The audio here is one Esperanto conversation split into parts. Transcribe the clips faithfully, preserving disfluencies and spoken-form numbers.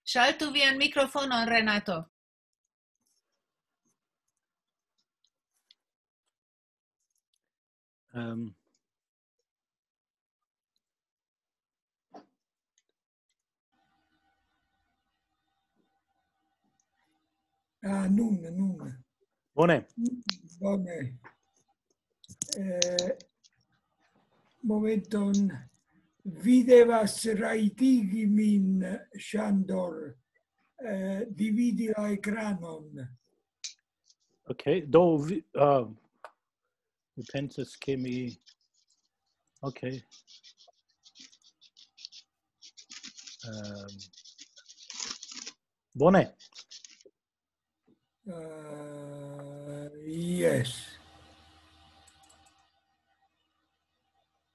Ŝaltu vian mikrofonon, Renato. Um, Ah, nun, nun. Bone. Bone. Eh, momenton, vi devas rajtigi min, Ŝandor, eh, dividi la ekranon. Ok, do vi, uh, mi pensas ke mi... Ok. Um, bone. Uh, yes.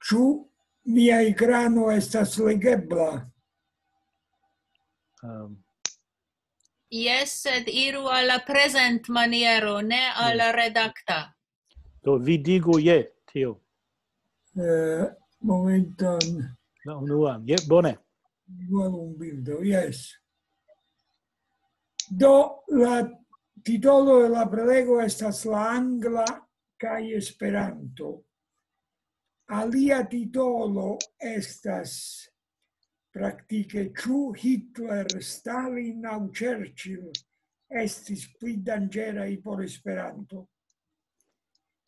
Ĉu mia ekrano estas legebla? Um, Jes, sed iru al la prezentmaniero, ne al la redakta. Do vi digu je tio. Eh, momenton. La unua, je, bone. Igual un bildo, yes. Do, la titolo de la prelego estas la angla kaj Esperanto. Alia titolo estas praktike, ĉu Hitler, Stalin aŭ Churchill estis pli danĝeraj por Esperanto?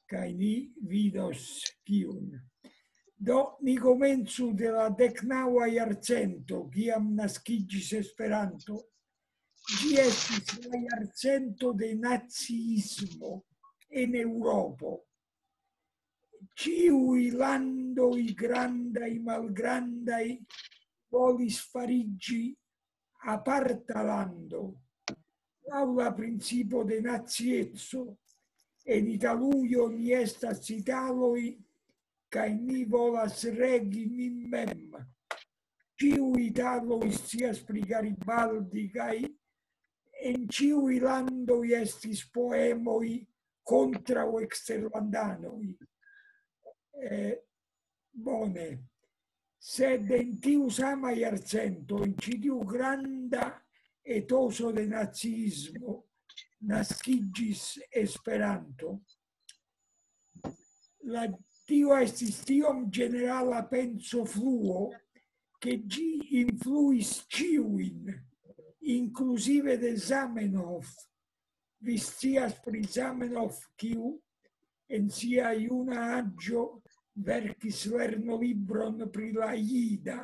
Kaj ni vidos kiun. Do, ni komencu de la deknaŭa jarcento, kiam naskiĝis Esperanto. Ĝi estis la jarcento de naciismo en Eŭropo. Ĉiuj landoj, grandaj, malgrandaj, volis fariĝi aparta lando, laŭ la principo de nacieco. En Italujo ni estas italoj, kaj ni volas regi nin mem. Ĉiuj italoj scias pri Garibaldi, kaj en ĉiuj landoj estis poemoj kontraŭ eksterlandanoj. Eh, bone. Sed en tiu sama jarcento, en ĉi tiu granda etoso de naciismo, naskiĝis Esperanto. La, tio estis tiom ĝenerala pensofluo, ke ĝi influis ĉiujn, inkluzive de Zamenhof. Vi scias pri Zamenhof, kiu en sia juna aĝo verkis lernolibron pri la jida,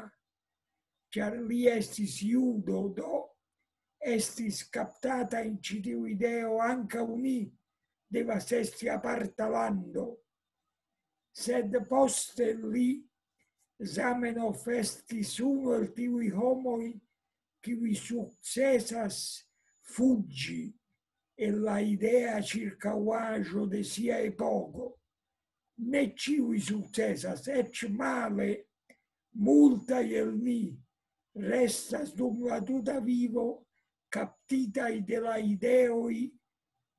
ĉar li estis judo, do estis kaptata en ĉi tiu ideo: ankaŭ ni devas esti aparta lando. Sed poste li, Zamenhof, estis unu el tiuj homoj, kiuj sukcesas fuĝi el la idea ĉirkaŭaĵo de sia epoko. Ne ĉiuj sukcesas, eĉ male, multaj el ni restas dum la tuta vivo kaptitaj de la ideoj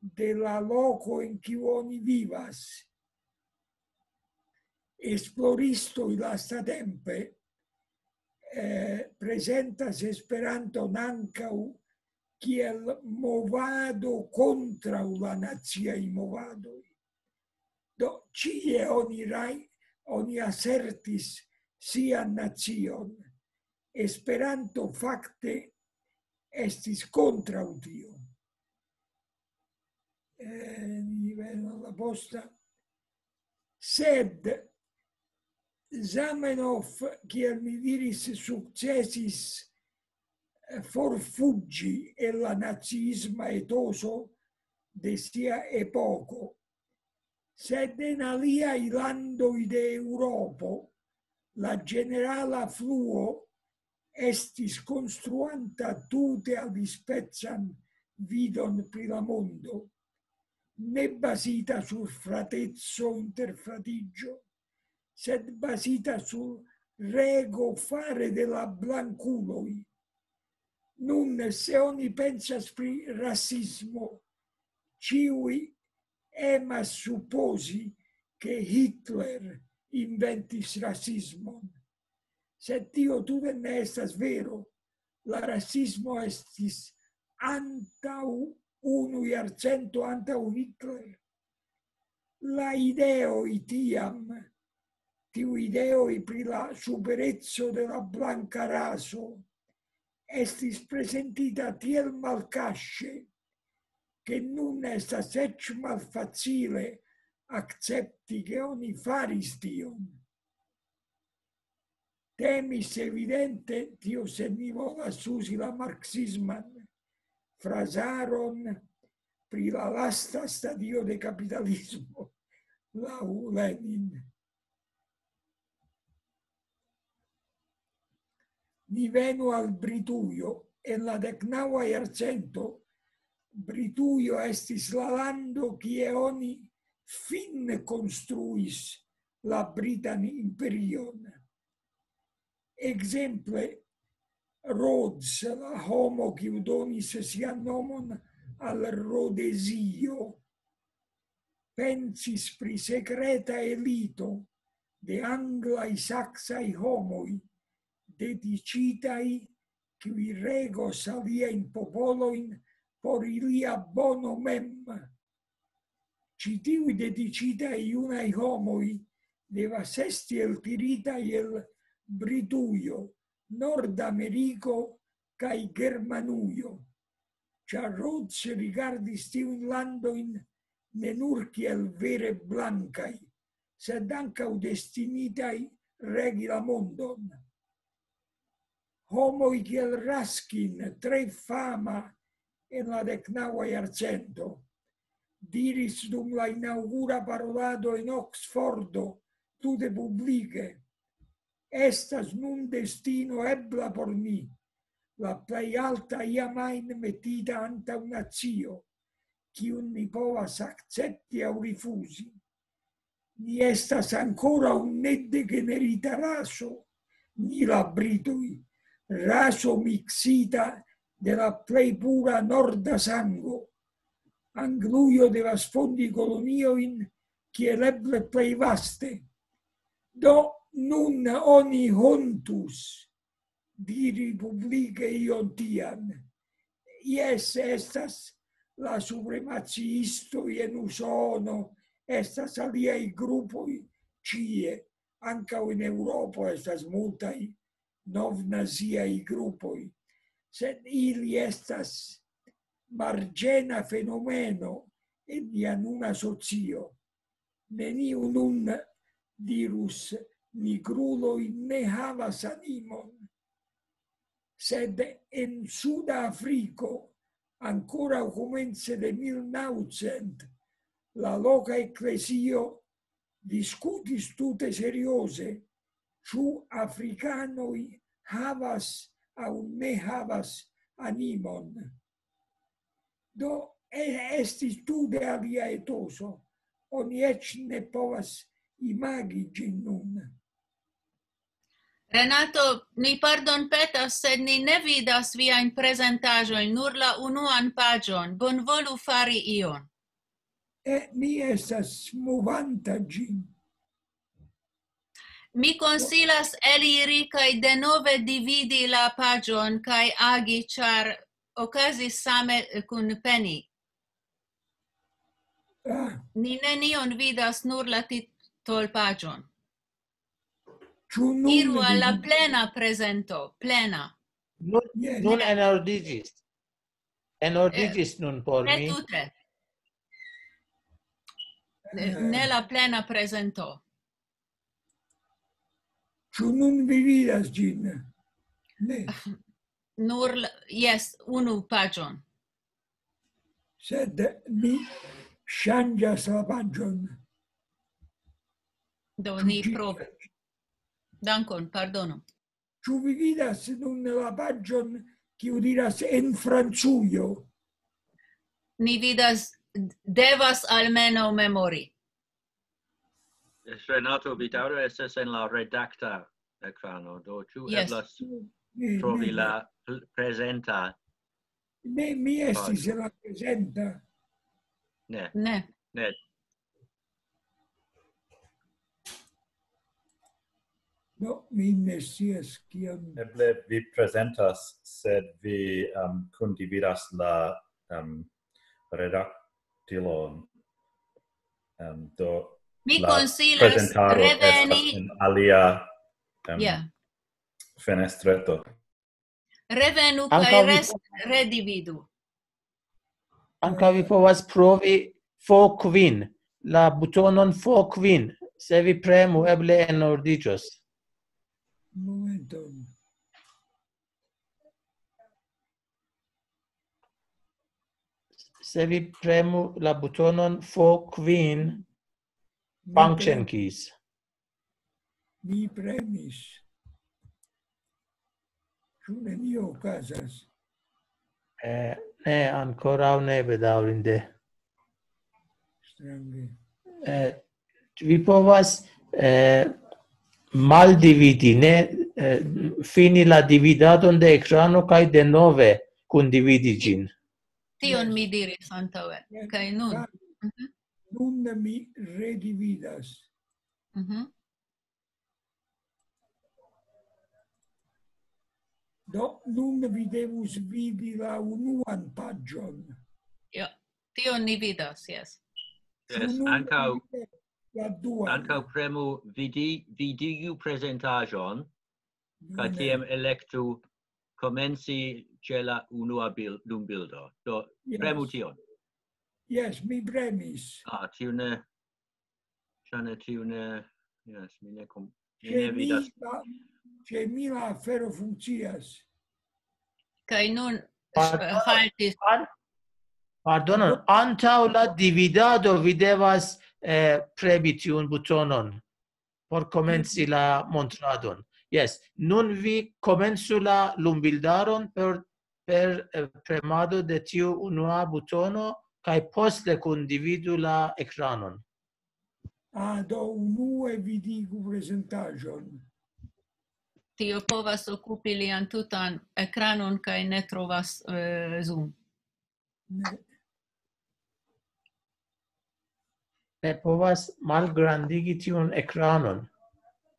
de la loko, en kiu oni vivas. Esploristoj lastatempe, eh, prezentas Esperanton ankaŭ kiel movado kontraŭ la naciaj movadoj. Do, ĉie oni raj-, oni asertis sian nacion. Esperanto fakte estis kontraŭ tio. Eh, ni venos la posta. Sed Zamenhof, kiel mi diris, sukcesis, eh, forfuĝi el la naciisma etoso de sia epoko. Sed en aliaj landoj de Eŭropo la ĝenerala fluo estis konstruanta tute alispecan vidon pri la mondo, ne bazita sur frateco inter fratiĝo, sed bazita sur rego fare de la blankuloj. Nun, se oni pensas pri rasismo, ĉiuj emas supozi, ke Hitler inventis rasismon. Sed tio tute ne estas vero. la rasismo estis antaŭ unu jarcento antaŭ Hitler. La ideoj tiam, tiu ideoj pri la supereco de la blanka raso, estis prezentita tiel malkaŝe, ke nun estas eĉ malfacile akcepti, ke oni faris tion. Temis evidente, tio se ni volas uzi la marksisman frazaron, pri la lasta stadio de kapitalismo, laŭ Lenin. Ni venu al Britujo. En la deknaŭa jarcento Britujo estis la lando, kie oni fine konstruis la britan imperion. Ekzemple, Rhodes, la homo, kiu donis sian nomon al Rodezio, pensis pri sekreta elito de anglaj, saksaj homoj, dediĉitaj, kiuj regos aliajn popolojn por ilia bono mem. Ĉi tiuj dediĉitaj junaj homoj devas esti eltiritaj el Britujo, Nordameriko kaj Germanujo, ĉar Rhodes rigardis tiujn landojn ne nur kiel vere blankaj, sed ankaŭ destinitaj regi la mondon. Homoj kiel Ruskin, tre fama en la deknaŭa jarcento, diris dum la inaŭgura parolado en Oksfordo tute publike: "Estas nun destino ebla por ni, la plej alta iam ajn metita antaŭ nacio, kiun ni povas akcepti aŭ rifuzi. Ni estas ankoraŭ nedegenerita raso, ni la britoj, raso miksita de la plej pura norda sango. Anglujo devas fondi koloniojn kiel eble plej vaste. Do nun oni hontus diri publike ion tian. Jes, estas la supremaciistoj en Usono, estas aliaj grupoj ĉie, ankaŭ en Eŭropo estas multaj novnaziaj grupoj, sed ili estas marĝena fenomeno en nia nuna socio. Neniu nun dirus: "Nigruloj ne havas animon." Sed en Suda Afriko, ankoraŭ komence de mil naŭcent, la loka eklezio diskutis tute serioze, ĉu afrikanoj havas aŭ ne havas animon. Do, e-, estis tute alia etoso. Oni eĉ ne povas imagi ĝin nun. Renato, mi pardon petas, sed ni ne vidas viajn prezentaĵojn, nur la unuan paĝon. Bonvolu fari ion. E, mi estas movanta ĝin. Mi konsilas eliri kaj denove dividi la paĝon kaj agi, ĉar okazis same kun Penny. Ah, Ni nenion vidas, nur la titolpaĝon. Ĉu nun Iru al la vi- plena prezento, plena. Nun, Eh, nun ne. Enordiĝis. Enordiĝis nun por Ne mi. Tute. Ne, ne la plena prezento. Ĉu nun vi vidas ĝin? Ne. Nur, la- jes, unu paĝon. Sed mi ŝanĝas la paĝon. Do ni Ĝi- provu. Dankon, pardonu. Ĉu vi vidas nun la paĝon, kiu diras "en Francujo"? Ni vidas, devas almenaŭ memori. Renato, vi daŭre estas en la redakta ekrano, do ĉu Yes. Eblas Ne, trovi ne, la pl- prezenta? Ne, mi estis en la prezenta. Ne, Ne. Ne. No, mi ne scias kiam. Eble vi prezentas, sed vi um, kundividas la um, redaktilon. Um, do Mi la konsilas prezentaro reveni. Estas en alia um, Yeah. fenestreto. Revenu Ankaŭ kaj mi- res- redividu. Ankaŭ vi povas provi F kvin, la butonon F kvin. Se vi premu, eble enordiĝos. Momenton. Se vi premu la butonon F kvin, Mi function keys. Mi premis. Ĉu nenio okazas? Eh, ne, ankoraŭ ne, bedaŭrinde. Strange. Eh, vi povas eh, maldividi, ne eh, fini la dividadon de ekrano kaj denove kundividi ĝin. Tion mi diris antaŭe. Kaj nun. Nun mi redividas. Mhm. Do, nun vi devus vidi la unuan paĝon. Ja, tion ni vidas, yes. Yes, Nun ankaŭ vi vidas la duan. Ankaŭ premu vidi, vidigu prezentaĵon, kaj Bone. Tiam elektu komenci ĉe la unua bil- lumbildo. Do, Yes. Premu tion. Yes, mi premis. Ah, tiu ne, ĉar ne tiu ne, yes, mi ne kom, mi Ĉe ne mi, vidas. la, ĉe mi la afero funkcias. Kaj nun Pardono. Haltis. An- Pardonon, antaŭ la dividado vi devas eh, premi tiun butonon por komenci la montradon. Yes, nun vi komencu la lumbildaron per, per eh, premado de tiu unua butono kaj poste kundividu la ekranon. Ah, do, unue vidigu prezentaĵon. Tio povas okupi lian tutan ekranon kaj ne trovas eh, Zoom. Ne. Ne povas malgrandigi tiun ekranon.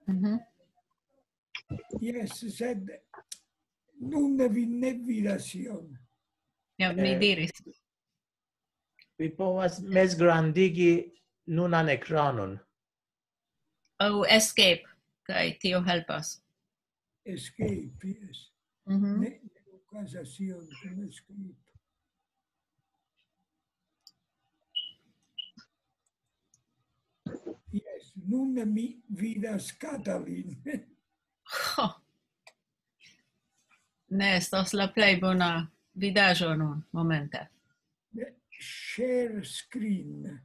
Mhm. Yes, sed nun vi ne vidas ion. Ja, mi Eh, diris. Vi povas mezgrandigi nunan ekranon. Aŭ escape, kaj tio helpas. Escape, yes. Mhm. Ne, ne okazas ion kun escape. Yes, nun mi vidas Katalin. Ho. Ne estas la plej bona vidaĵo nun, momente. Share screen.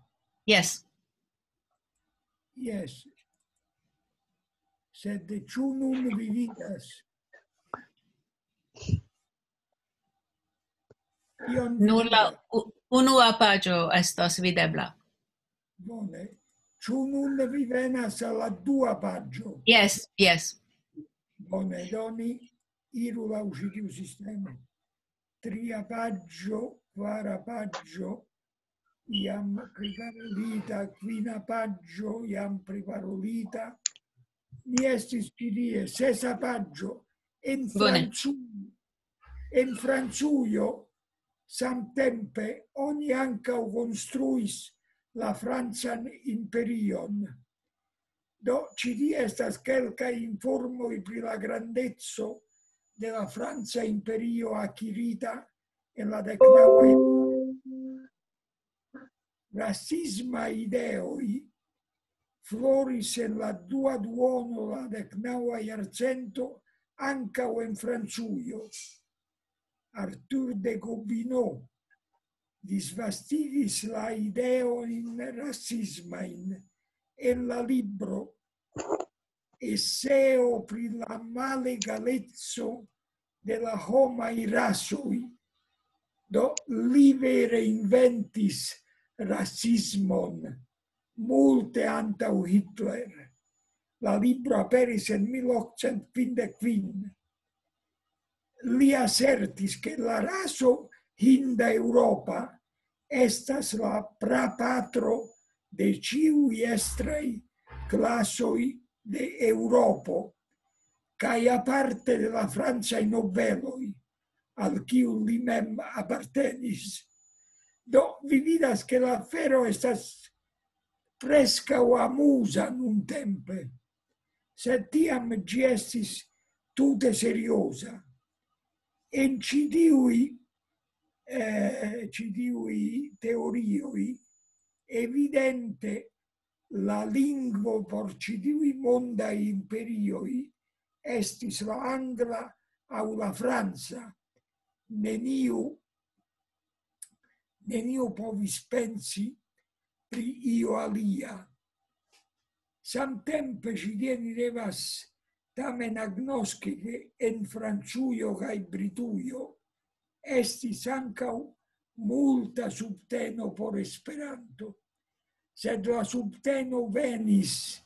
Yes. Yes. Sed ĉu nun vi vidas? Ion vi Nur la vidas? u- unua paĝo estas videbla. Bone. Ĉu nun vi venas al la dua paĝo? Yes, yes. Bone, do ni iru laŭ ĉi tiu sistemo. Tria paĝo, kvara paĝo, jam priparolita, kvina paĝo, jam priparolita. Ni estis ĉi tie, sesa paĝo. En Bone. Francu-, en Francujo samtempe oni ankaŭ konstruis la francan imperion. Do, ĉi tie estas kelkaj informoj pri la grandeco de la franca imperio akirita en la deknaŭa. Rasismaj ideoj floris en la dua duono la deknaŭa jarcento ankaŭ en Francujo. Arthur de Gobineau disvastigis la ideojn rasismajn en la libro Eseo pri la malegaleco de la homaj rasoj. Do, li vere inventis rasismon multe antaŭ Hitler. La libro aperis en mil okcent kvindek kvin. Li asertis, ke la raso hinda-eŭropa estas la prapatro de ĉiuj estraj klasoj de Eŭropo, kaj aparte de la francaj nobeloj, al kiu li mem apartenis. Do, vi vidas, ke la afero estas preskaŭ amuza nuntempe, sed tiam ĝi estis tute serioza. En ĉi tiuj, eh, ĉi tiuj teorioj, evidente la lingvo por ĉi tiuj mondaj imperioj estis la angla aŭ la franca. Neniu, neniu povis pensi pri io alia. Samtempe ĝi, ni devas tamen agnoski, ke en Francujo kaj Britujo estis ankaŭ multa subteno por Esperanto, sed la subteno venis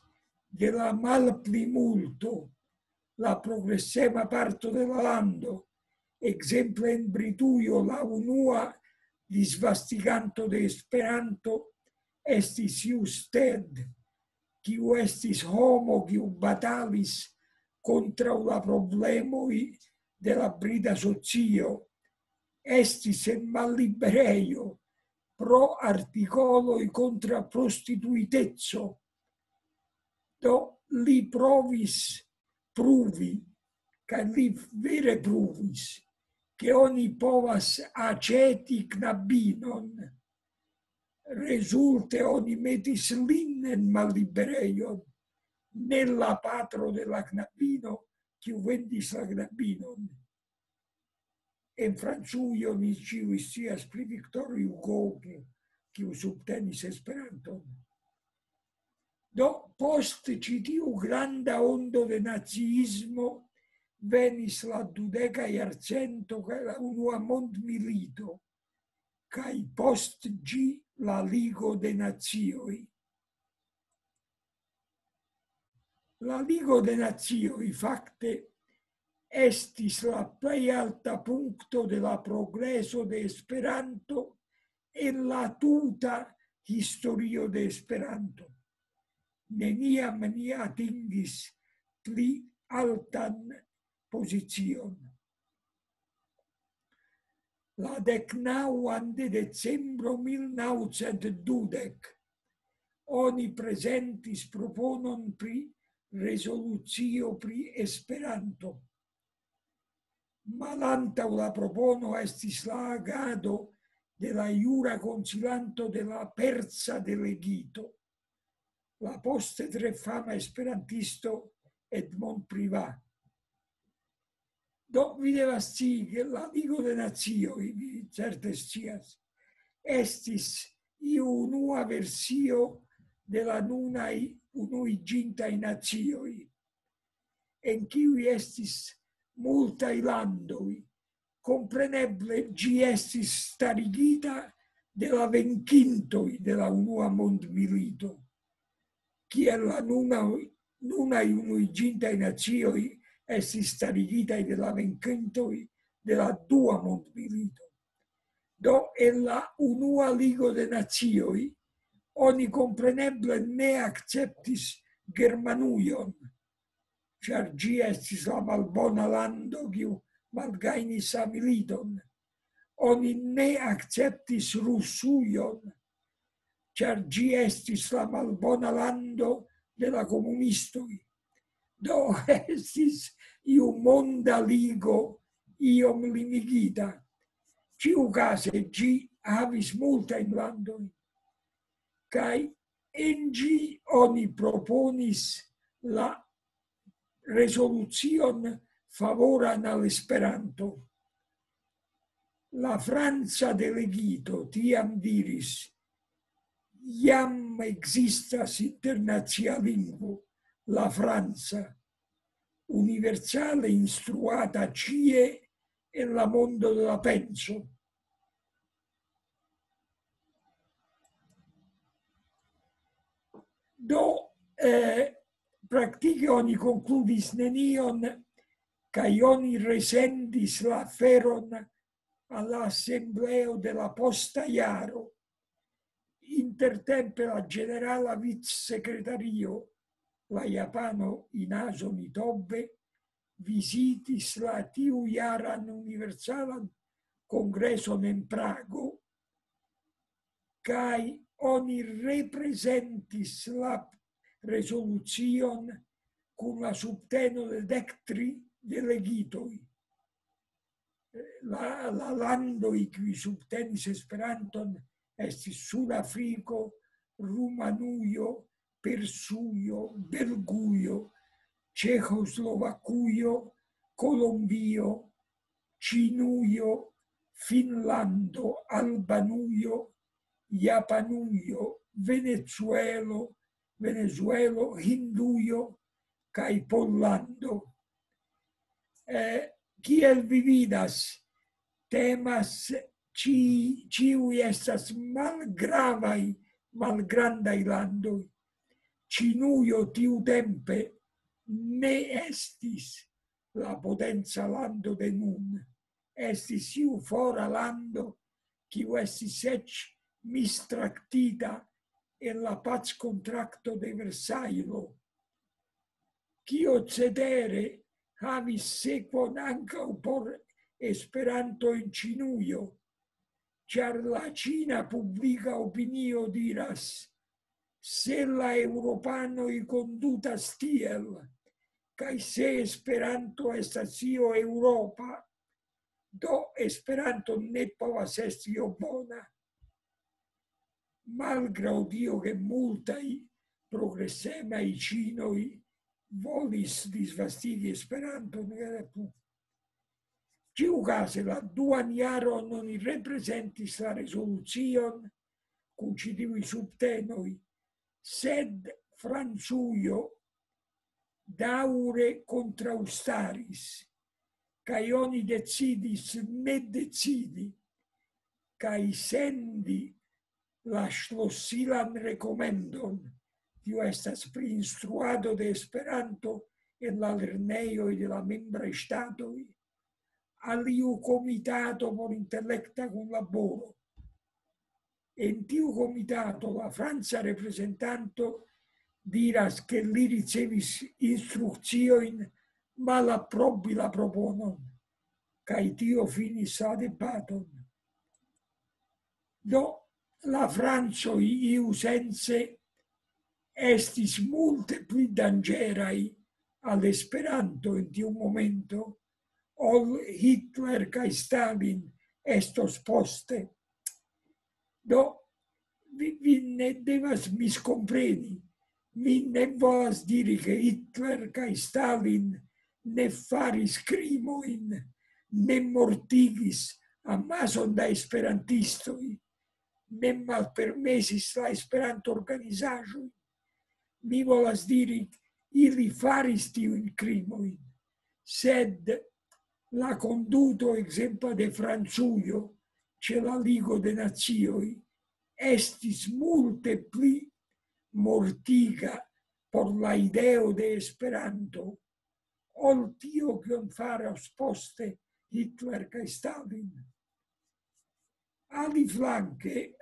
de la malplimulto, la progresema parto de la lando. Ekzemple en Britujo la unua disvastiganto de Esperanto estis Husted, kiu estis homo, kiu batalis kontraŭ la problemoj de la brita socio, estis en malliberejo pro artikoloj kontraŭ prostituiteco. Do, li provis pruvi, kaj li vere pruvis, ke oni povas aĉeti knabinon. Rezulte oni metis lin en malliberejon, ne la patro de la knabino, kiu vendis la knabinon. En Francujo ni ĉiuj scias pri Victor Hugo, kiu, kiu subtenis Esperanton. Do, post ĉi tiu granda ondo de naciismo venis la dudeka jarcento kaj la unua mondmilito, kaj post ĝi la Ligo de Nacioj. La Ligo de Nacioj fakte estis la plej alta punkto de la progreso de Esperanto en la tuta historio de Esperanto. Neniam ni atingis pli altan pozicion. La deknaŭan de decembro mil naŭcent dudek oni prezentis proponon pri rezolucio pri Esperanto. Malantaŭ la propono estis la agado de la jura konsilanto de la persa delegito, la poste tre fama esperantisto Edmond Privat. Do, vi devas scii, ke la Ligo de Nacioj, vi certe scias, estis iu unua versio de la nunaj Unuiĝintaj Nacioj, en kiuj estis multaj landoj. Kompreneble ĝi estis starigita de la venkintoj de la Unua Mondmilito, kiel la nuna, nunaj Unuiĝintaj Nacioj estis starigitaj de la venkintoj de la Dua Mondmilito. Do, en la Unua Ligo de Nacioj oni kompreneble ne akceptis Germanujon, ĉar ĝi estis la malbona lando, kiu malgajnis la militon. Oni ne akceptis Rusujon, ĉar ĝi estis la malbona lando de la komunistoj. Do, estis iu monda ligo iom limigita. Ĉiukaze ĝi havis multajn landojn, kaj en ĝi oni proponis la rezolucion favoran al Esperanto. La franca delegito tiam diris: "Jam ekzistas internacia lingvo, la franca, universale instruata ĉie en la mondo de la penso." Do, eh, praktike oni konkludis nenion, kaj oni resendis la aferon al la asembleo de la posta jaro. Intertempe la ĝenerala vicsekretario, la japano Inazo Nitobe, vizitis la tiujaran universalan kongreson en Prago, kaj oni reprezentis la rezolucion kun la subteno de dek tri delegitoj. La, la landoj, kiuj subtenis Esperanton, estis Sudafriko, Rumanujo, Persujo, Belgujo, Ĉeĥoslovakujo, Kolombio, Ĉinujo, Finnlando, Albanujo, Japanujo, Venezuelo, Venezuelo, Hindujo kaj Pollando. Eh, kiel vi vidas, temas ĉi-, ĉiuj estas malgravaj, malgrandaj landoj. Ĉinujo tiutempe ne estis la potenca lando de nun. Estis iu fora lando, kiu estis eĉ mistraktita en la packontrakto de Versajlo. Kio cetere havis sekvon ankaŭ por Esperanto en Ĉinujo, ĉar la ĉina publika opinio diras: "Se la eŭropanoj kondutas tiel, kaj se Esperanto estas io eŭropa, do Esperanto ne povas esti io bona." Malgraŭ tio, ke multaj progresemaj ĉinoj volis disvastigi Esperanton, ĉiukaze la duan jaron oni reprezentis la rezolucion kun ĉi tiuj subtenoj, sed Francujo daŭre kontraŭstaris, kaj oni decidis ne decidi kaj sendi la ŝlosilan rekomendon, tio estas pri instruado de Esperanto en la lernejoj de la membraj ŝtatoj, al iu komitato por intelekta kunlaboro. En tiu komitato la franca reprezentanto diras, ke li ricevis instrukciojn malaprobi la proponon, kaj tio finis la debaton. Do, la francoj iusence estis multe pli danĝeraj al Esperanto en tiu momento, ol Hitler kaj Stalin estos poste. Do, vi, vi ne devas miskompreni. Mi ne volas diri, ke Hitler kaj Stalin ne faris krimojn, ne mortigis amason da esperantistoj, ne malpermesis la Esperanto-organizaĵojn. Mi volas diri, ili faris tiujn krimojn, sed la konduto, ekzemple, de Francujo ĉe la Ligo de Nacioj estis multe pli mortiga por la ideo de Esperanto, ol tio, kion faros poste Hitler kaj Stalin. Aliflanke,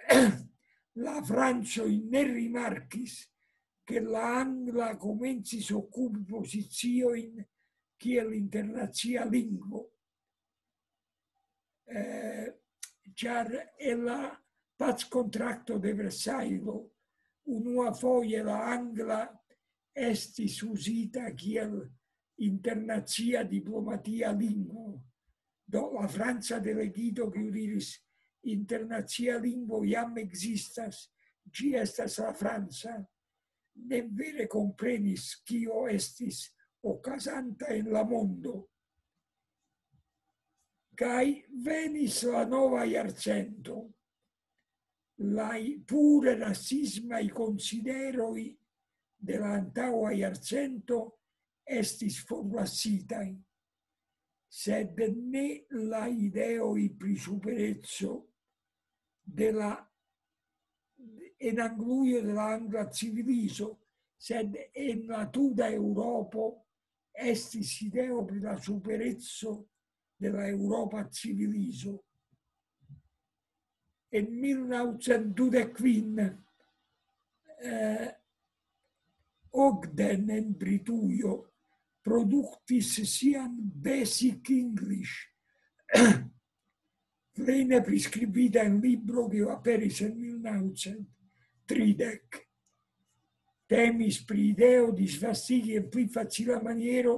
la francoj ne rimarkis, ke la angla komencis okupi poziciojn kiel internacia lingvo. Eh, ĉar en la packontrakto de Versajlo unuafoje la angla estis uzita kiel internacia diplomatia lingvo. Do la franca delegito, kiu diris: "Internacia lingvo jam ekzistas, ĝi estas la franca", ne vere komprenis, kio estis okazanta en la mondo. Kaj venis la nova jarcento. La pure rasismaj konsideroj de la antaŭa jarcento estis forlasitaj, sed ne la ideoj pri supereco de la, en Anglujo, de la angla civilizo, sed en la tuta Eŭropo estis ideo pri la supereco de la eŭropa civilizo. En mil naŭcent dudek kvin, eh, Ogden en Britujo produktis sian Basic English, plene priskribita en libro, kiu aperis en mil naŭcent tridek. Temis pri ideo disvastigi en pli facila maniero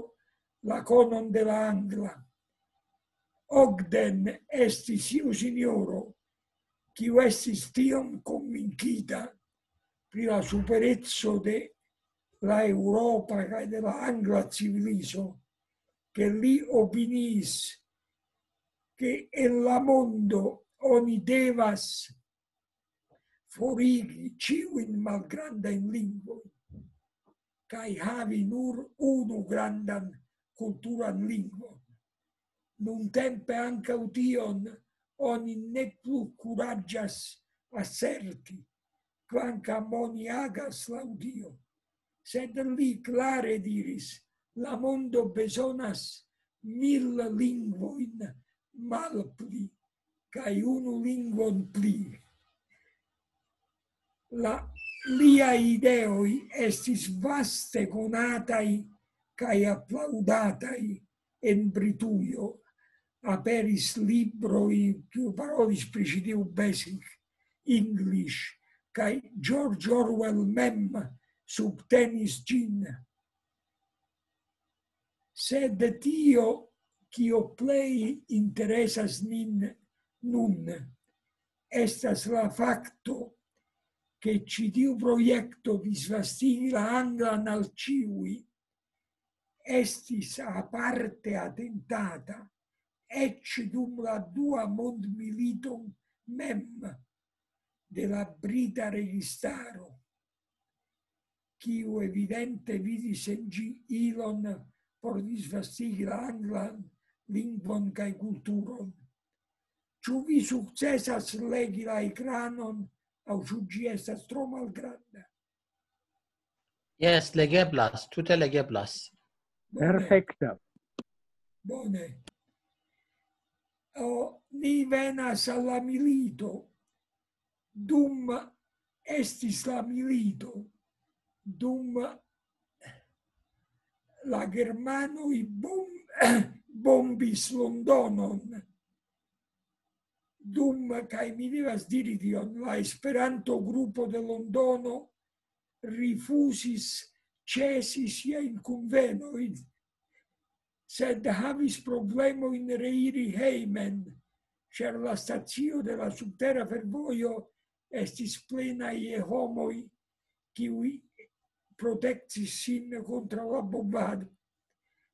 la konon de la angla. Ogden estis iu sinjoro, kiu estis tiom konvinkita pri la supereco de la eŭropa kaj de la angla civilizo, ke li opiniis, ke en la mondo oni devas forigi ĉiujn malgrandajn lingvojn kaj havi nur unu grandan kulturan lingvon. Nuntempe ankaŭ tion oni ne plu kuraĝas aserti, kvankam oni agas laŭ Dio. Sed li klare diris: "La mondo bezonas mil lingvojn malpli, kaj unu lingvon pli." La, liaj ideoj estis vaste konataj kaj aplaŭdataj en Britujo. Aperis libroj, kiu parolis pri ĉi tiu Basic English, kaj George Orwell mem subtenis ĝin. Sed tio, kio plej interesas nin nun, estas la fakto, ke ĉi tiu projekto disvastigi la anglan al ĉiuj estis aparte atentata, eĉ dum la dua mondmilito mem, de la brita registaro, kiu evidente vidis en ĝi ilon por disvastigi la anglan lingvon kaj kulturon. Ĉu vi sukcesas legi la ekranon, aŭ ĉu ĝi estas tro malgranda? Jes, legeblas, tute legeblas. Bone. Perfekta. Bone. O, ni venas al la milito. Dum estis la milito, dum la germanoj bom-, bombis Londonon, dum, kaj mi devas diri tion, la Esperanto-grupo de Londono rifuzis ĉesi siajn kunvenojn, sed havis problemojn reiri hejmen, ĉar la stacio de la subtera fervojo estis plena je homoj, kiuj protektis sin kontraŭ la bombado.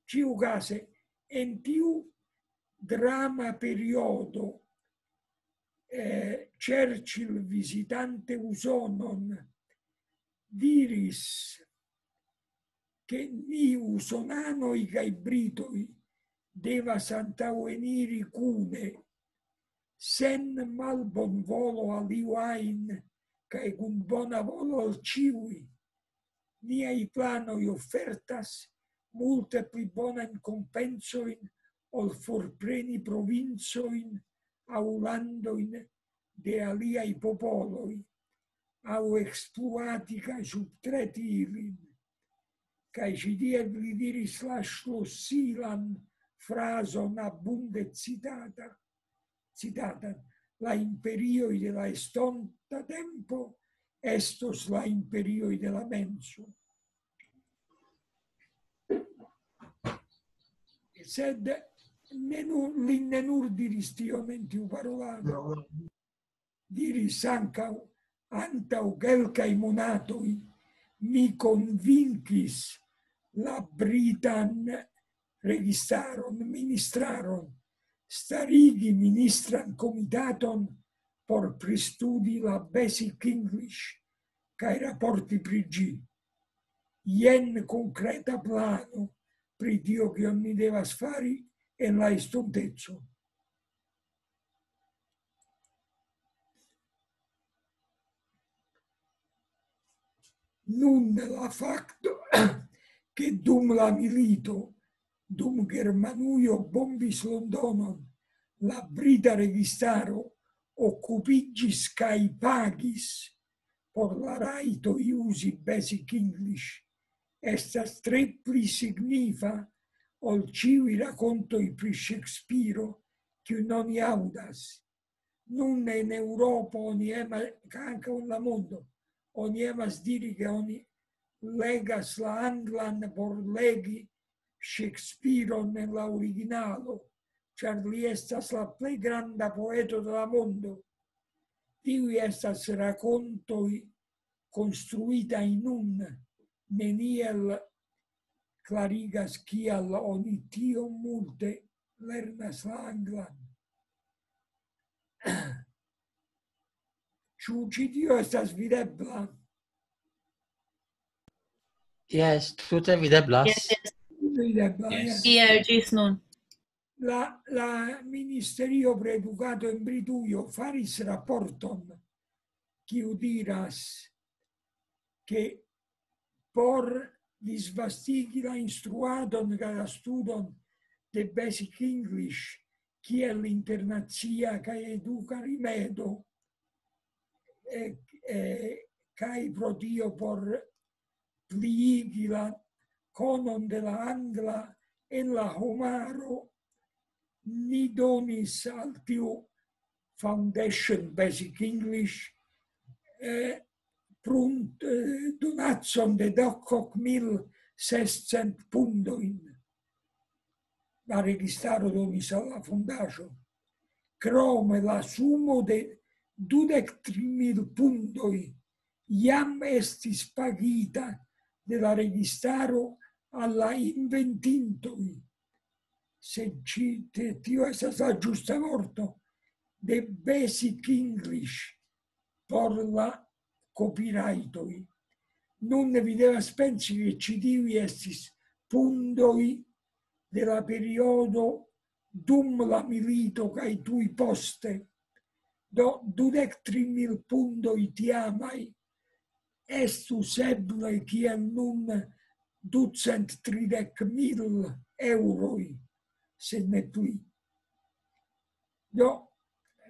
Ĉiukaze, en tiu drama periodo, eh, Churchill, vizitante Usonon, diris, ke ni usonanoj kaj britoj devas antaŭeniri kune, sen malbonvolo al iu ajn, kaj kun bona volo al ĉiuj. Niaj planoj ofertas multe pli bonajn kompensojn ol forpreni provincojn aŭ landojn de aliaj popoloj, aŭ ekspluati kaj subtreti ilin. Kaj ĉi tie li diris la ŝlosilan frazon, abunde citata, citatan: "La imperioj de la estonta tempo estos la imperioj de la menso." Sed ne nur, li ne nur diris tion en tiu parolado. Diris ankaŭ: "Antaŭ kelkaj monatoj mi konvinkis la britan registaron, ministraron, starigi ministran komitaton por pristudi la Basic English kaj raporti pri ĝi. Jen konkreta plano pri tio, kion ni devas fari en la estonteco." Nun la fakto, ke dum la milito, dum Germanujo bombis Londonon, la brita registaro okupiĝis kaj pagis por la rajto uzi Basic English, estas tre pli signifa ol ĉiuj rakontoj pri Ŝekspiro, kiujn oni aŭdas. Nun en Eŭropo oni emas, kaj ankaŭ en la mondo, oni emas diri, ke oni legas la anglan por legi Ŝekspiron en la originalo, ĉar li estas la plej granda poeto de la mondo. Tiuj estas rakontoj konstruitaj nun, neniel klarigas, kial oni tiom multe lernas la anglan. Ĉu ĉi tio estas videbla? Jes, tute videblas. Jes, jes. Videbla, jes. Tiel ĝis nun. La, la Ministerio pri Edukado en Britujo faris raporton, kiu diras, ke por disvastigi la instruadon kaj la studon de Basic English kiel internacia kaj eduka rimedo, eh, eh, kaj pro tio por pliigi la konon de la angla en la homaro, ni donis al tiu Foundation Basic English, eh, prunt, eh, donacon de dek mil sescent pundojn. La registaro donis al la fondaĵo. Krome la sumo de dudek tri mil pundoj jam estis pagita de la registaro al la inventintoj. Se ci-, te-, tio estas la ĝusta vorto, de Basic English por la copyrightoj. Nun vi devas pensi, ke ĉi tiuj estis pundoj de la periodo dum la milito kaj tuj poste. Do dudek tri mil pundoj tiamaj estus eble kiel nun ducent tridek mil eŭroj, sed ne pli. Do,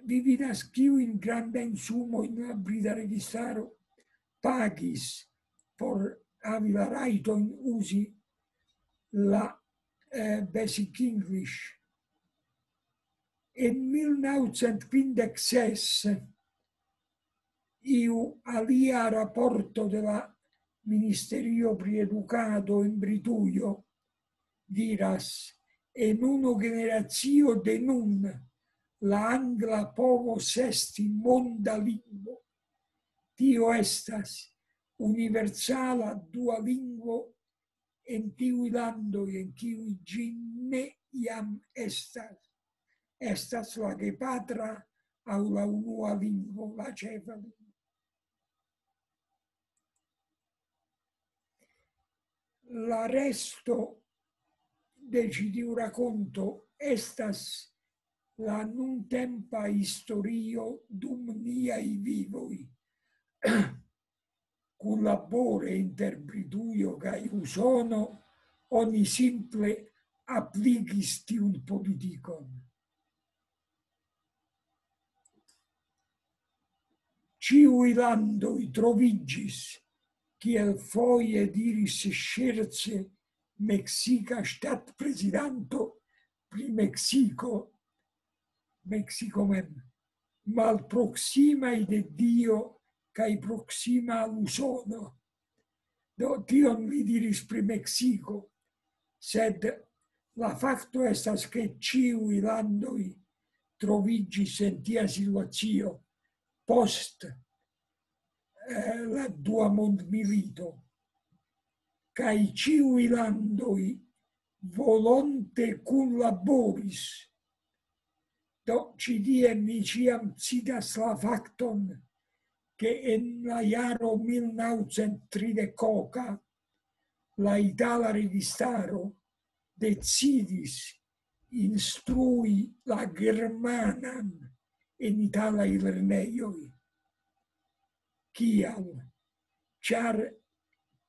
vi vidas, kiujn grandajn sumojn la brita registaro pagis por havi la rajton uzi la, eh, Basic English. En mil naŭcent kvindek ses iu alia raporto de la Ministerio pri Edukado en Britujo diras: "En unu generacio de nun la angla povos esti monda lingvo. Tio estas universala dua lingvo en tiuj landoj, en kiuj ĝi ne jam estas. Estas la gepatra aŭ la unua lingvo, la ĉefa lingvo." La resto de ĉi tiu rakonto estas la nuntempa historio dum niaj vivoj. Kunlabore inter Britujo kaj Usono oni simple apligis tiun politikon. Ĉiuj landoj troviĝis, kiel foje diris ŝerce meksika ŝtatprezidanto pri Meksiko, Meksiko mem, malproksimaj de Dio kaj proksima al Usono. Do tion li diris pri Meksiko, sed la fakto estas, ke ĉiuj landoj troviĝis en tia situacio post, eh, la dua mondmilito, kaj ĉiuj landoj volonte kunlaboris. Do, ĉi tie mi ĉiam citas la fakton, ke en la jaro mil naŭcent tridek la itala registaro decidis instrui la germanan en italaj lernejoj. Kial? Ĉar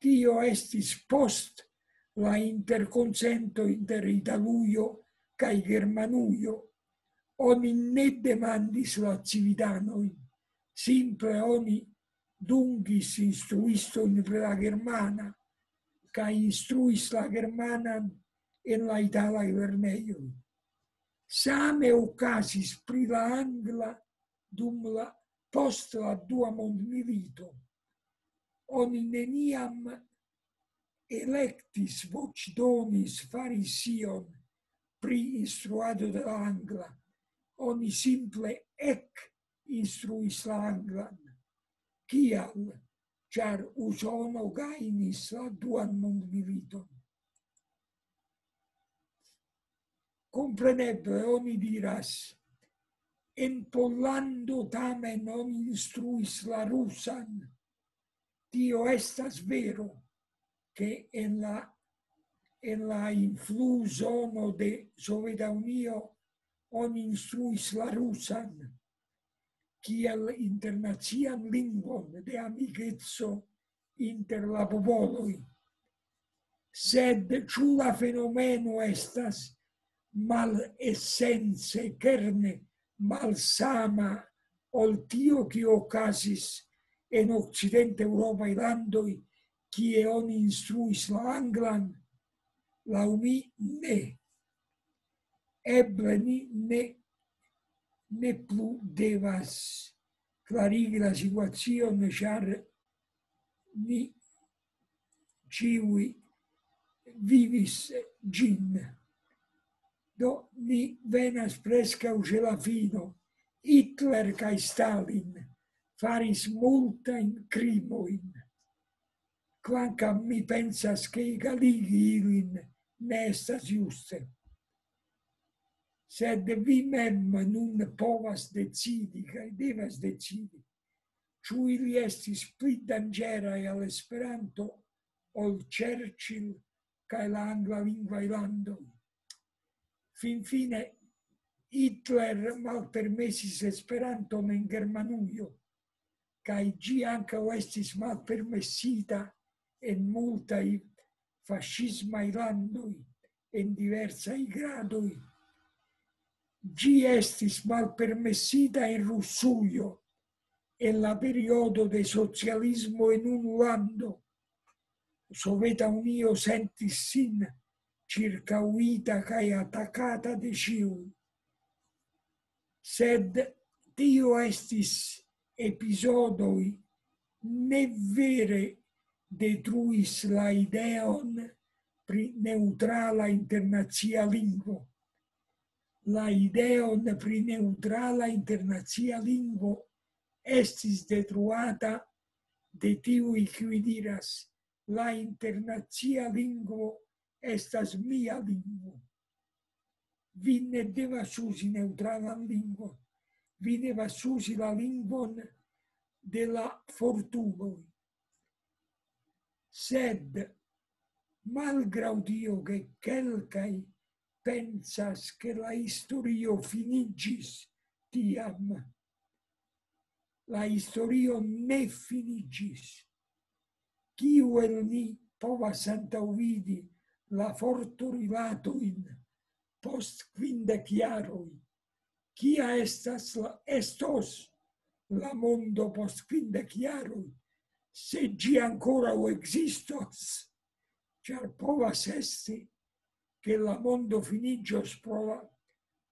tio estis post la interkonsento inter Italujo kaj Germanujo. Oni ne demandis la civitanojn, simple oni dungis instruistojn pri la germana, kaj instruis la germanan en la italaj lernejoj. Same okazis pri la angla dum la, post la Dua Mondmilito. Oni neniam elektis voĉdonis fari ion pri instruado de la angla. Oni simple ekinstruis la anglan. Kial? Ĉar Usono gajnis la Duan Mondmiliton. Kompreneble oni diras, en Pollando tamen oni instruis la rusan. Tio estas vero, ke en la, en la influzono de Soveta Unio oni instruis la rusan kiel internacian lingvon de amikeco inter la popoloj. Sed ĉu la fenomeno estas malesence, kerne malsama ol tio, kio okazis en okcidenteŭropaj landoj, kie oni instruis la anglan? Laŭ mi, ne. Eble ni ne, ne plu devas klarigi la situacion, ĉar ni ĉiuj vivis ĝin. Do, ni venas preskaŭ ĉe la fino. Hitler kaj Stalin faris multajn krimojn, kvankam mi pensas, ke egaligi ilin ne estas juste. Sed vi mem nun povas decidi kaj devas decidi, ĉu ili estis pli danĝeraj al Esperanto ol Churchill kaj la anglalingvaj landoj. Finfine, Hitler malpermesis Esperanton en Germanujo, kaj ĝi ankaŭ estis malpermesita en multaj faŝismaj landoj en diversaj gradoj. Ĝi estis malpermesita en Rusujo en la periodo de socialismo en unu lando. Soveta Unio sentis sin ĉirkaŭita kaj atakata de ĉiuj. Sed tio estis epizodoj, ne vere detruis la ideon pri neŭtrala internacia lingvo. La ideon pri neŭtrala internacia lingvo estis detruata de tiuj, kiuj diras: "La internacia lingvo estas mia lingvo." Vi ne devas uzi neŭtralan lingvon. Vi devas uzi la lingvon de la fortuloj. Sed, malgraŭ tio, ke kelkaj pensas, ke la historio finiĝis tiam, la historio ne finiĝis. Kiu el ni povas antaŭvidi la fortorilatojn post kvindek jaroj? Kia estas la, estos la mondo post kvindek jaroj, se ĝi ankoraŭ ekzistos? Ĉar povas esti, ke la mondo finiĝos pro la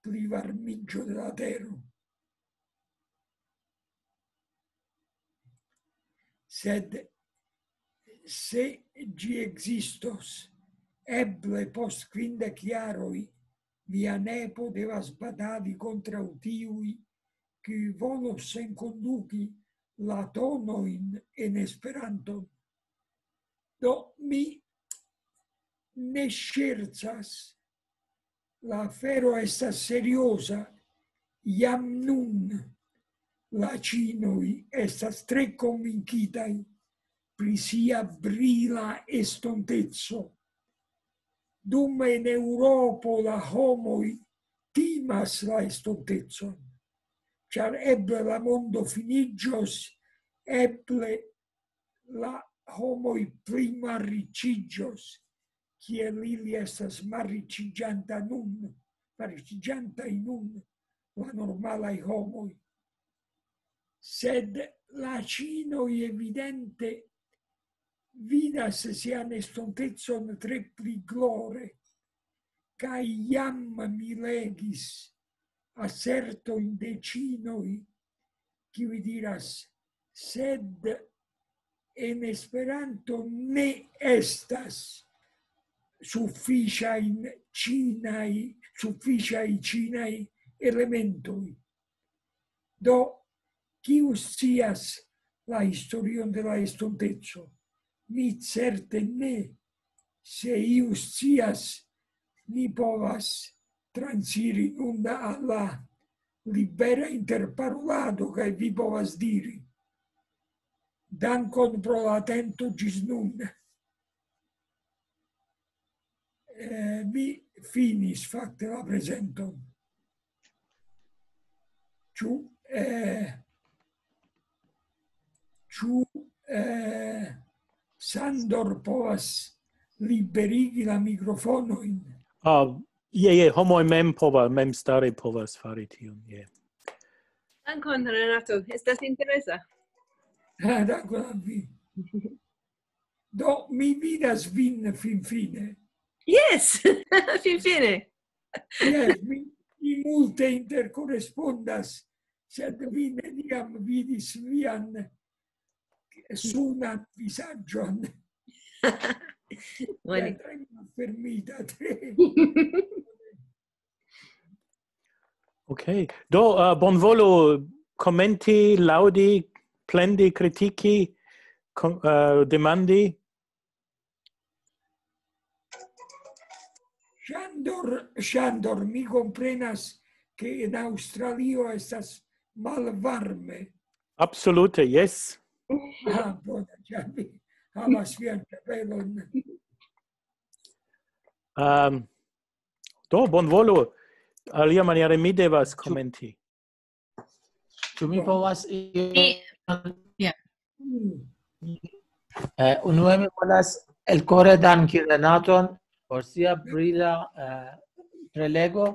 plivarmiĝo de la tero. Sed se ĝi ekzistos, eble post kvindek jaroj via nepo devas batali kontraŭ tiuj, kiuj volos enkonduki la tonojn en Esperanton. Do, mi ne ŝercas, la afero estas serioza. Jam nun la ĉinoj estas tre konvinkitaj pri sia brila estonteco. Dum en Eŭropo la homoj timas la estontecon, ĉar eble la mondo finiĝos, eble la homoj pli malriĉiĝos, kiel ili estas malriĉiĝanta nun, malriĉiĝantaj nun, la normalaj homoj. Sed la ĉinoj evidente vidas sian estontecon tre pli glore, kaj jam mi legis asertojn de ĉinoj, kiuj diras: "Sed en Esperanto ne estas sufiĉajn ĉinaj, sufiĉaj ĉinaj elementoj." Do, kiu scias la historion de la estonteco? Mi certe ne. Se iu scias, ni povas transiri nun al la libera interparolado, kaj vi povas diri. Dankon pro la atento ĝis nun. Eh, mi finis fakte la prezenton. Ĉu, eh, ĉu, eh, Sandor povas liberigi la mikrofonojn? Ah, je, je, homoj mem povas, memstare povas fari tion, je. Dankon, Renato. Estas interesa. Ah, dankon al vi. Do, mi vidas vin finfine. Yes, finfine. Yes, mi, mi multe interkorespondas, sed vi neniam vidis vian sunan vizaĝon. Bone. Tre malfermita, tre. Ok. Do, uh, bonvolu komenti, laŭdi, plendi, kritiki, kom- uh, demandi. Ŝandor, Ŝandor, mi komprenas, ke en Aŭstralio estas malvarme. Absolute, yes. Ah, bona, ĉar vi havas vian ĉapelon. Um, do, bonvolu. Alia maniere mi devas komenti. Ĉu mi povas io? Mi- Mm. Eh, unue mi volas elkore danki Renaton por sia brila eh, prelego,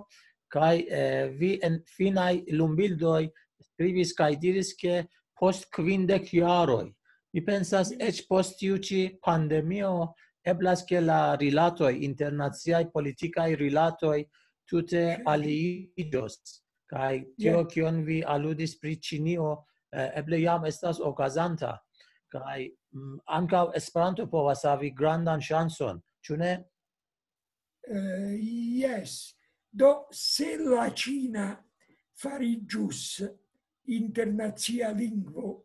kaj eh, vi en finaj lumbildoj skribis kaj diris, ke post kvindek jaroj, mi pensas, eĉ post tiu ĉi pandemio, eblas, ke la rilatoj, internaciaj politikaj rilatoj tute aliiĝos. Kaj tio, Ja. kion vi aludis pri Ĉinio, eh, eble jam estas okazanta. Kaj mm, ankaŭ Esperanto povas havi grandan ŝancon, ĉu ne? Eh, yes. Do, se la ĉina fariĝus internacia lingvo,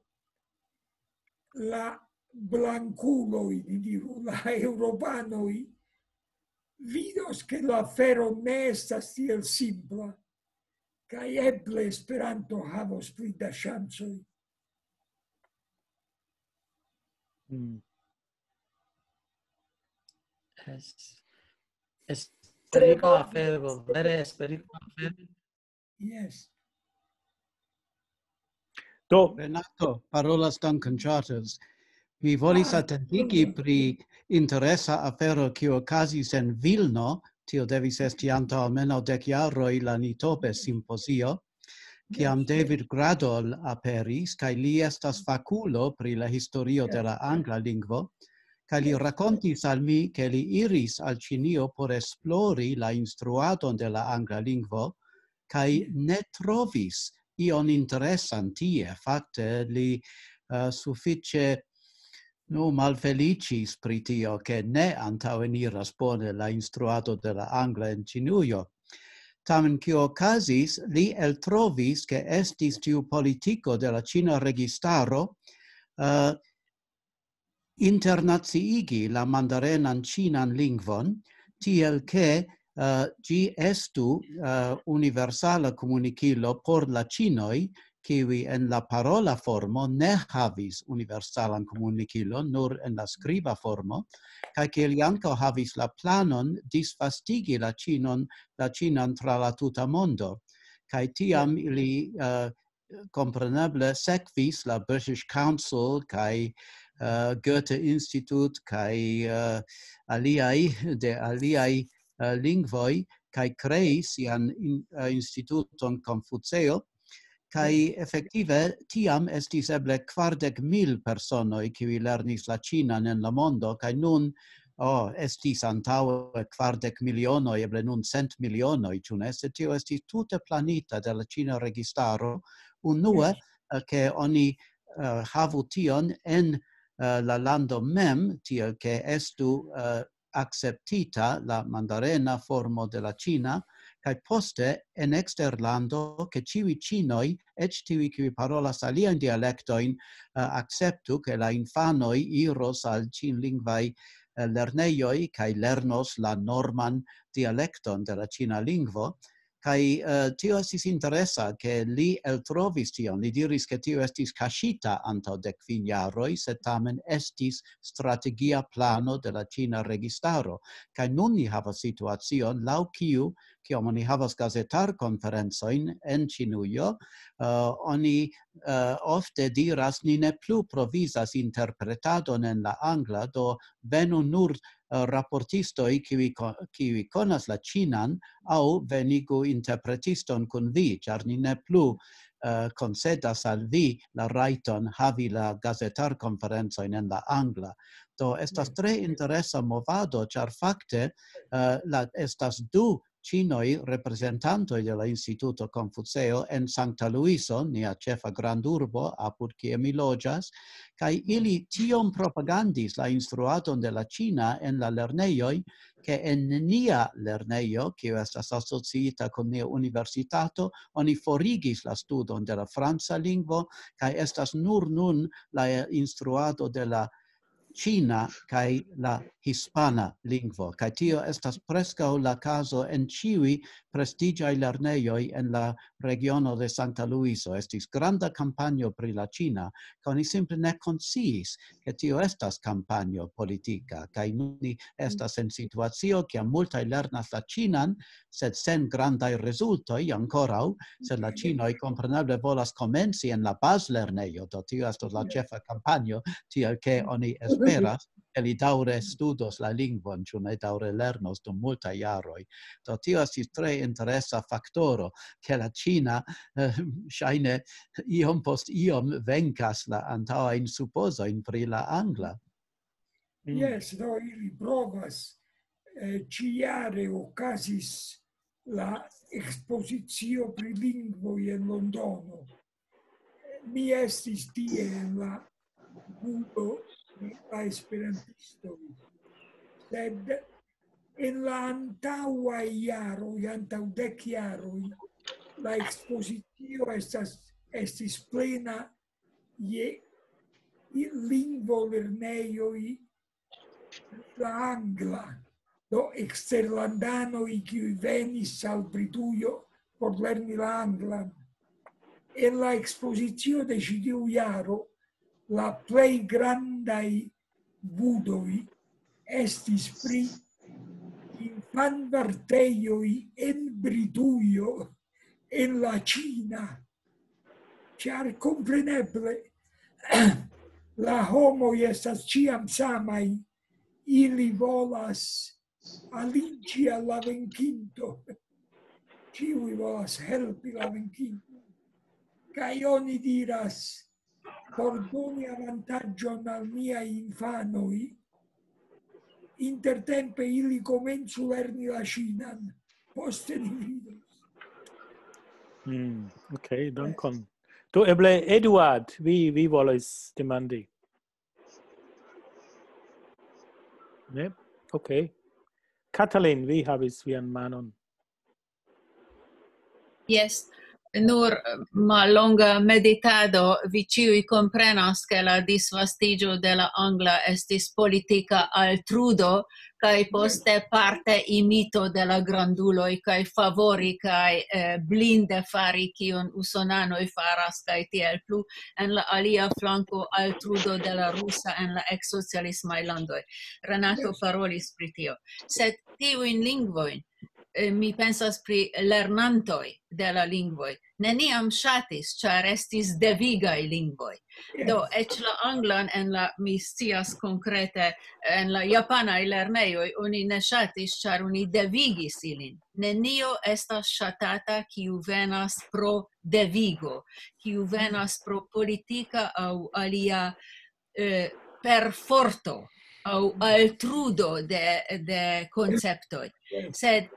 la blankuloj, ni diru, la eŭropanoj, vidos, ke la afero ne estas tiel simpla, kaj eble Esperanto havos pli da ŝancoj. Mm. Es, esperigma afero, vere esperigma afero. Yes. Do, Renato, parolas Duncan Charters. Mi volis Ah, atentigi mm. pri interesa afero, kiu okazis en Vilno, tio devis esti antaŭ almenaŭ dek jaroj, la Nitobe simpozio, kiam David Gradol aperis, kaj li estas fakulo pri la historio de la angla lingvo, kaj li rakontis al mi, ke li iris al Ĉinio por esplori la instruadon de la angla lingvo, kaj ne trovis ion interesan tie. Fakte, li eh, sufiĉe, nu, malfeliĉis pri tio, ke ne antaŭeniras bone la instruado de la angla en Ĉinujo. Tamen, kio okazis, li eltrovis, ke estis tiu politiko de la ĉina registaro eh, internaciigi la mandarenan ĉinan lingvon, tiel ke eh, ĝi estu eh, universala komunikilo por la ĉinoj, kiuj en la parola formo ne havis universalan komunikilon, nur en la skriba formo, kaj ke li ankaŭ havis la planon disvastigi la ĉinon, la ĉinan tra la tuta mondo. Kaj tiam ili eh, kompreneble sekvis la British Council kaj eh, Goethe Institut kaj eh, aliaj de aliaj eh, lingvoj, kaj kreis sian in, eh, instituton Konfuceo, Kaj efektive tiam estis eble kvardek mil personoj, kiuj lernis la ĉinan en la mondo, kaj nun, oh, estis antaŭe kvardek milionoj, eble nun cent milionoj, ĉu ne? Sed tio estis tute planita de la ĉina registaro. Unue, eh, ke oni, eh, havu tion en, eh, la lando mem, tiel ke estu, eh, akceptita la mandarena formo de la ĉina, kaj poste en eksterlando, ke ĉiuj ĉinoj, eĉ tiuj, kiuj parolas aliajn dialektojn, eh, akceptu, ke la infanoj iros al ĉinlingvaj, eh, lernejoj kaj lernos la norman dialekton de la ĉina lingvo. Kaj, eh, tio estis interesa, ke li eltrovis tion. Li diris, ke tio estis kaŝita antaŭ dek kvin jaroj, sed tamen estis strategia plano de la ĉina registaro. Kaj nun ni havas situacion, laŭ kiu, kiam oni havas gazetarkonferencojn en Ĉinujo, eh, oni, eh, ofte diras, "Ni ne plu provizas interpretadon en la angla, do venu nur, eh, raportistoj, kiuj ko-, kiuj konas la ĉinan, aŭ venigu interpretiston kun vi, ĉar ni ne plu, eh, koncedas al vi la rajton havi la gazetarkonferencojn en la angla." Do estas tre interesa movado, ĉar fakte, eh, la, estas du ĉinoj reprezentantoj de la Instituto Konfuceo en Sankta Luiso, nia ĉefa grandurbo, apud kie mi loĝas, kaj ili tiom propagandis la instruadon de la ĉina en la lernejoj, ke en nia lernejo, kiu estas asociita kun nia universitato, oni forigis la studon de la franca lingvo, kaj estas nur nun la instruado de la ĉina kaj la hispana lingvo. Kaj tio estas preskaŭ la kazo en ĉiuj prestiĝaj lernejoj en la regiono de Sankta Luiso. Estis granda kampanjo pri la ĉina, kaj oni simple ne konsciis, ke tio estas kampanjo politika. Kaj nun ni estas en situacio, kiam multaj lernas la ĉinan, sed sen grandaj rezultoj ankoraŭ, sed la ĉinoj kompreneble volas komenci en la bazlernejo, do tio estos la ĉefa kampanjo, tiel ke oni esperas, ke li daŭre studos la lingvon, ĉu ne daŭre lernos dum multaj jaroj. Do tio estis tre interesa faktoro, ke la ĉina, eh, ŝajne iom post iom venkas la antaŭajn supozojn pri la angla. Jes, do ili provas, eh, ĉijare okazis la ekspozicio pri lingvoj en Londono. Mi estis tie en la budo de la esperantistoj, sed en la antaŭaj jaroj, antaŭ dek jaroj, la ekspozicio estas, estis plena je lingvolernejoj la angla, do eksterlandanoj, kiuj venis al Britujo por lerni la anglan. En la ekspozicio de ĉi tiu jaro, la plej grandaj budoj estis pri infanvartejoj en Britujo, en la ĉina, ĉar kompreneble la homoj estas ĉiam samaj, ili volas aliĝi al la venkinto. Ĉiuj volas helpi la venkinto. Kaj oni diras, por doni avantaĝon al niaj infanoj, intertempe ili komencu lerni la ĉinan. Poste ni vidos. Mm, ok, dankon. Do eble Eduard, vi, vi volas demandi. Ne? Ok. Katalin, vi havis vian manon. Jes, nur mallonga meditado, vi ĉiuj komprenas, ke la disvastiĝo de la angla estis politika altrudo, kaj poste parte imito de la granduloj, kaj favori kaj, eh, blinde fari, kion usonanoj faras, kaj tiel plu. En la alia flanko, altrudo de la rusa en la eksocialismaj landoj. Renato parolis pri tio. Sed tiujn lingvojn, eh, mi pensas pri lernantoj de la lingvoj, neniam ŝatis, ĉar estis devigaj lingvoj. Do, eĉ la anglan en la, mi scias konkrete, en la japanaj lernejoj oni ne ŝatis, ĉar oni devigis ilin. Nenio estas ŝatata, kiu venas pro devigo, kiu venas pro politika aŭ alia, eh, perforto aŭ altrudo de, de konceptoj. Sed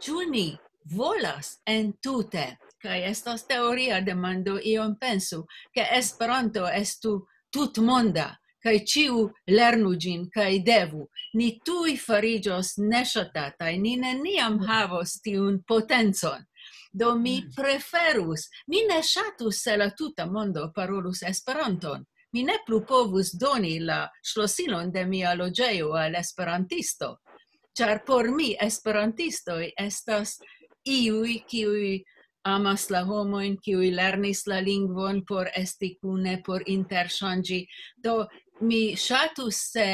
ĉu ni volas entute, kaj estas teoria demando, ion pensu, ke Esperanto estu tutmonda, kaj ĉiu lernu ĝin, kaj devu, ni tuj fariĝos neŝatataj, ni neniam havos tiun potencon. Do mi preferus, mi ne ŝatus, se la tuta mondo parolus Esperanton. Mi ne plu povus doni la ŝlosilon de mia loĝejo al esperantisto, ĉar por mi esperantistoj estas iuj, kiuj amas la homojn, kiuj lernis la lingvon por esti kune, por interŝanĝi. Do mi ŝatus, se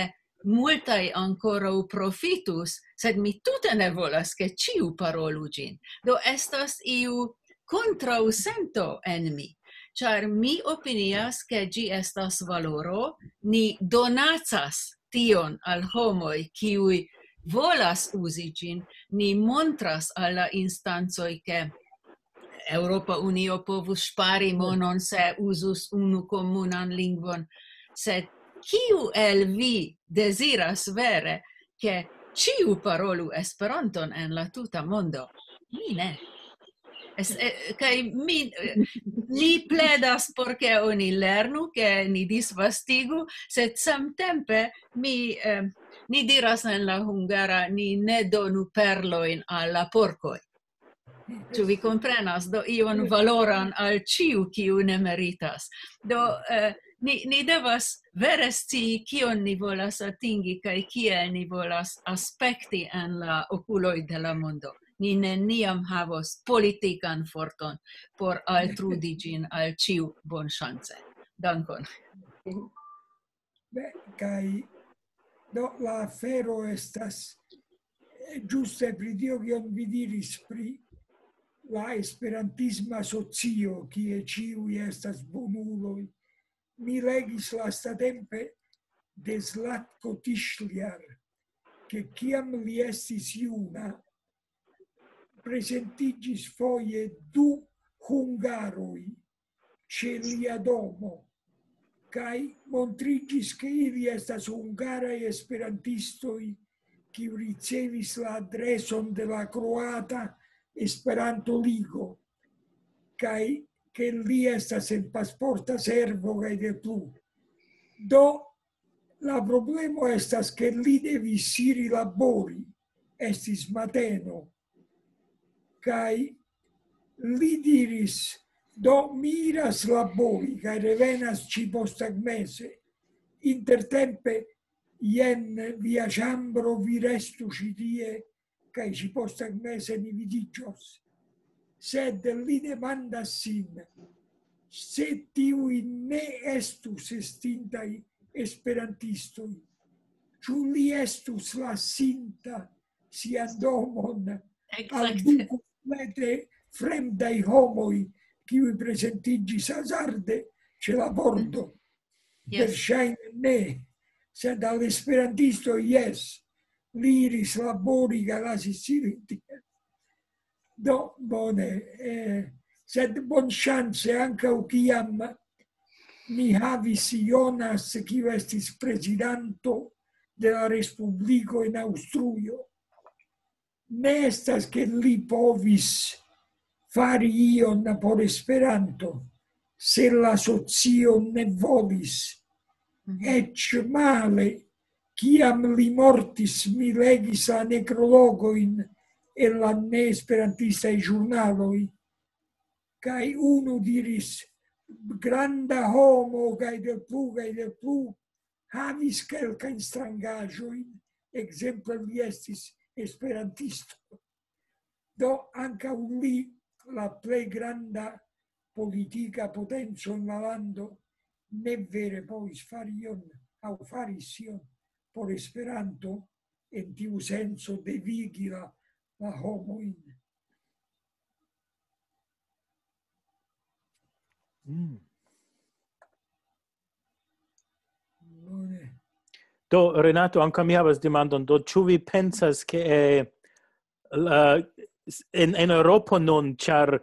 multaj ankoraŭ profitus, sed mi tute ne volas, ke ĉiu parolu ĝin. Do estas iu kontraŭsento en mi, ĉar mi opinias, ke ĝi estas valoro, ni donacas tion al homoj, kiuj volas uzi ĝin, ni montras al la instancoj, ke Eŭropa Unio povus ŝpari monon, se uzus unu komunan lingvon. Sed kiu el vi deziras vere, ke ĉiu parolu Esperanton en la tuta mondo? Mi ne. Es, eh, kaj mi, eh, ni pledas por ke oni lernu, ke ni disvastigu, sed samtempe mi, eh, ni diras en la hungara, ni ne donu perlojn al la porkoj. Ĉu vi komprenas? Do ion valoran al ĉiu, kiu ne meritas. Do, eh, ni, ni devas vere scii, kion ni volas atingi kaj kiel ni volas aspekti en la okuloj de la mondo. Ni neniam havos politikan forton por altrudi ĝin al ĉiu bonŝance. Dankon. Beh, kaj do la afero estas, eh, ĝuste pri tio, kion vi diris pri la esperantisma socio, kie ĉiuj estas bonuloj. Mi legis lastatempe de Zlatko Tischliar, ke kiam li estis juna, prezentiĝis foje du hungaroj ĉe lia domo, kaj montriĝis, ke ili estas hungaraj esperantistoj, kiu ricevis la adreson de la Kroata Esperanto-Ligo, kaj ke li estas en pasporta servo kaj de plu. Do, la problemo estas, ke li devis iri labori, estis mateno, kaj li diris: "Do, mi iras labori, kaj revenas ĉi posttagmeze. Intertempe, jen via ĉambro, vi restu ĉi tie, kaj ĉi posttagmeze ni vidiĝos." Sed li demandas sin, se tiuj ne estus estintaj esperantistoj, ĉu li estus lasinta sian domon al du komplete fremdaj homoj, kiuj prezentiĝis hazarde ĉe la bordo? Verŝajne ne, sed al esperantisto, jes, li iris labori kaj lasis ilin tie. Do, bone, eh, sed bonŝance, ankaŭ kiam mi havis Jonas, kiu estis prezidanto de la Respubliko en Aŭstrujo, ne estas, ke li povis fari ion por Esperanto, se la socio ne volis. Eĉ male, kiam li mortis, mi legis la nekrologojn en la neesperantistaj ĵurnaloj, kaj unu diris: "Granda homo", kaj de plu, kaj de plu, havis kelkajn strangaĵojn, ekzemple li estis esperantisto. Do ankaŭ li, la plej granda politika potenco en la lando, ne vere povis fari ion aŭ faris ion por Esperanto, en tiu senco devigi la la homojn. Mm. Bone. Do, Renato, ankaŭ mi havas demandon. Do, ĉu vi pensas, ke eh, la, en, en Eŭropo nun, ĉar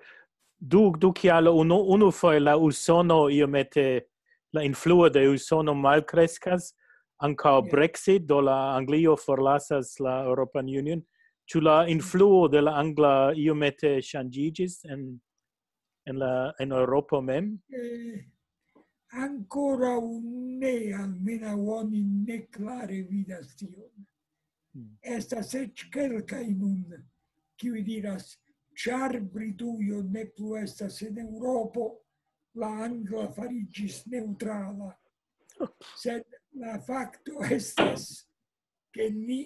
du, du kialo, unu, unu foje la Usono iomete, la influo de Usono malkreskas, ankaŭ Ja. Brexit, do la Anglio forlasas la European Union, ĉu la influo de la angla iomete ŝanĝiĝis en, en la, en Eŭropo mem? Eh, ankoraŭ ne, almenaŭ oni ne klare vidas tion. Mm. Estas eĉ kelkaj nun, kiuj diras, ĉar Britujo ne plu estas en Eŭropo, la angla fariĝis neŭtrala. Sed la fakto estas, ke ni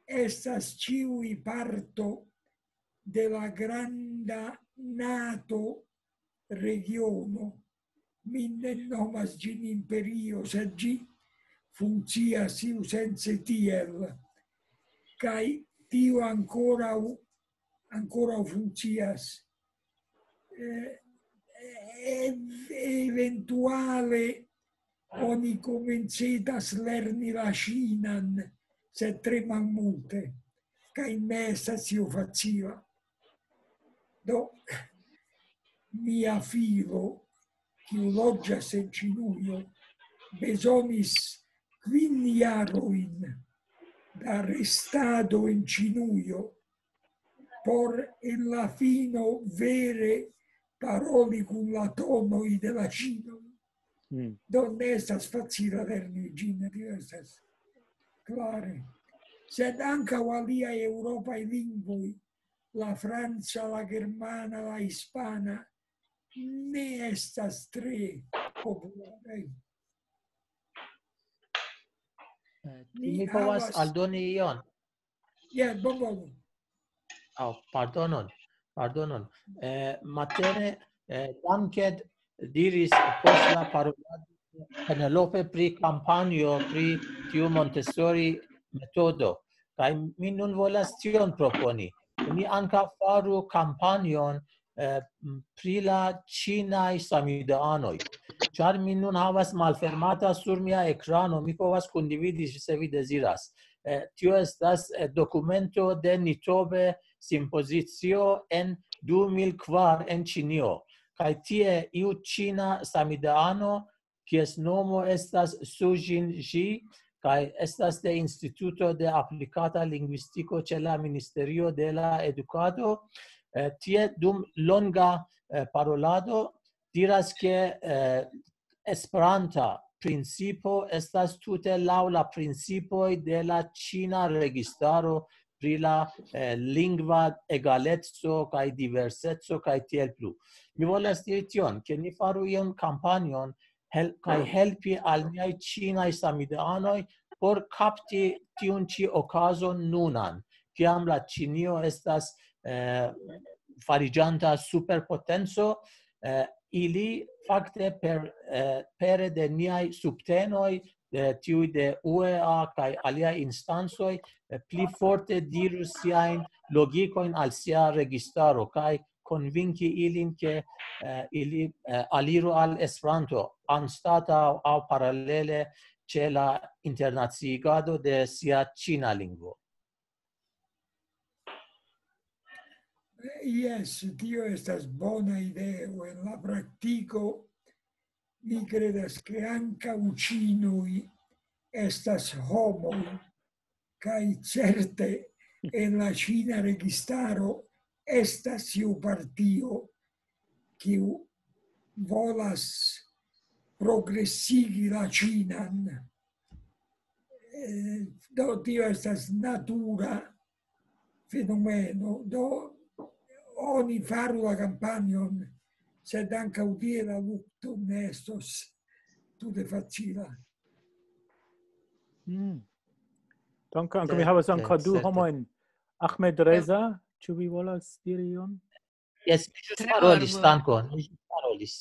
estas ĉiuj parto de la granda NATO regiono. Mi ne nomas ĝin imperio, sed ĝi funkcias iusence tiel. Kaj tio ankoraŭ, ankoraŭ funkcias. Eh, eh, eventuale oni komencitas lerni la ŝinan, sed tre malmulte, kaj ne estas io facila. Do, mia filo, kiu loĝas en Ĉinujo, bezonis kvin jarojn da restado en Ĉinujo por en la fino vere paroli kun la tonoj de la ĉinoj. Mm. Do ne estas facila lerni ĝin, tio estas klare. Sed ankaŭ aliaj eŭropaj lingvoj, la franca, la germana, la hispana, ne estas tre popularaj. Eh, mi povas aldoni ion? Ja, bonvolu. Oh, pardonon, pardonon. Eh, matene, eh, Danke diris post la parolado Penelope pri kampanjo pri tiu Montessori metodo. Kaj mi nun volas tion proponi. Ni ankaŭ faru kampanjon eh, pri la ĉinaj samideanoj. Ĉar mi nun havas malfermata sur mia ekrano, mi povas kundividi, se vi deziras. Eh, tio estas eh, dokumento de Nitobe simpozicio en du mil kvar en Ĉinio. Kaj tie iu ĉina samideano, kies nomo estas Sujin Ji, kaj estas de Instituto de Aplikata Lingvistiko ĉe la Ministerio de la Edukado. Eh, tie dum longa eh, parolado diras, ke eh, Esperanta principo estas tute laŭ la principoj de la ĉina registaro pri la eh, lingva egaleco kaj diverseco kaj tiel plu. Mi volas diri tion, ke ni faru ion kampanjon hel kaj helpi al niaj ĉinaj samideanoj por kapti tiun ĉi okazon nunan, kiam la Ĉinio estas eh, fariĝanta superpotenco, eh, ili fakte per, eh, pere de niaj subtenoj, eh, tiuj de U E A kaj aliaj instancoj, eh, pli forte diru siajn logikojn al sia registaro kaj konvinki ilin, ke eh, ili eh, aliru al Esperanto anstataŭ aŭ paralele ĉe la internaciigado de sia ĉina lingvo. Jes, tio estas bona ideo. En la praktiko, mi kredas, ke ankaŭ ĉinoj estas homoj, kaj certe en la ĉina registaro estas iu partio, kiu volas progresigi la ĉinan. Eh, do, tio estas natura fenomeno. Do, oni faru la kampanjon, sed ankaŭ tie la lukto ne estos tute facila. Mm. Danke, ankaŭ mi havas ankaŭ du homojn. Ahmed Reza, ĉu vi volas diri ion? Jes, mi ĵus parolis, dankon. Mi ĵus parolis.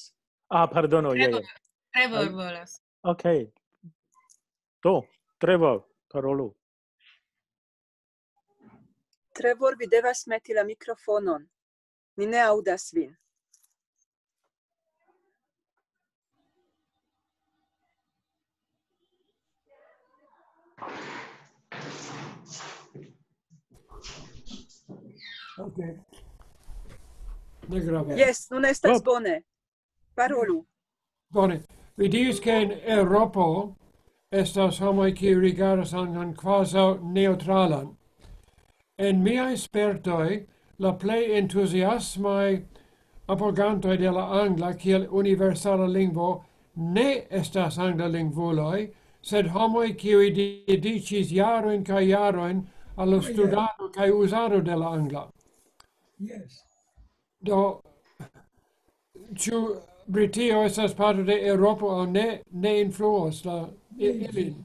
Ah, pardono, ja, ja. Trevor volas. Ok. Do, Trevor, parolu. Trevor, vi devas meti la mikrofonon. Ni ne aŭdas vin. Ok. Ne grave. Jes, nun estas Oh. Bone. Parolu. Bone. Vi diris, ke en Eŭropo estas homoj, kiuj rigardas anglan kvazaŭ neŭtralan. En miaj spertoj, la plej entuziasmaj apogantoj de la angla kiel universala lingvo ne estas anglalingvuloj, sed homoj, kiuj dediĉis jarojn kaj jarojn al la Jes. Studado kaj uzado de la angla. Yes. Do, ĉu Britio estas parto de Eŭropo aŭ ne, ne influos la i- ilin?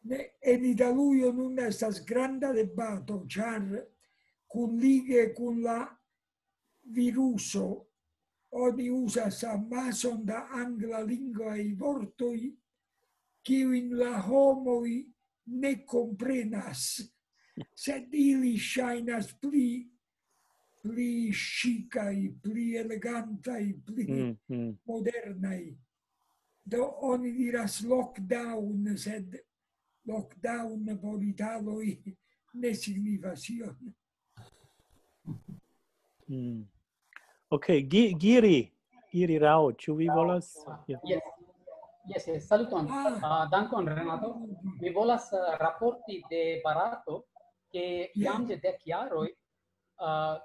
Ne, en Italujo nun estas granda debato, ĉar kunlige kun la viruso oni uzas amason da anglalingvaj vortoj, kiujn la homoj ne komprenas, sed ili ŝajnas pli, pli ŝikaj, pli elegantaj, pli Mm, mm. modernaj. Do oni diras lockdown, sed lockdown por italoj ne signifas ion. Mm. Ok, Gi- Giri, Giri Rao, ĉu vi volas? Ja. Yes. Yes, yes. Saluton. Ah. Ah, dankon, Renato. Mi volas ah, raporti de Barato, ke Yes. jam de dek jaroj ah,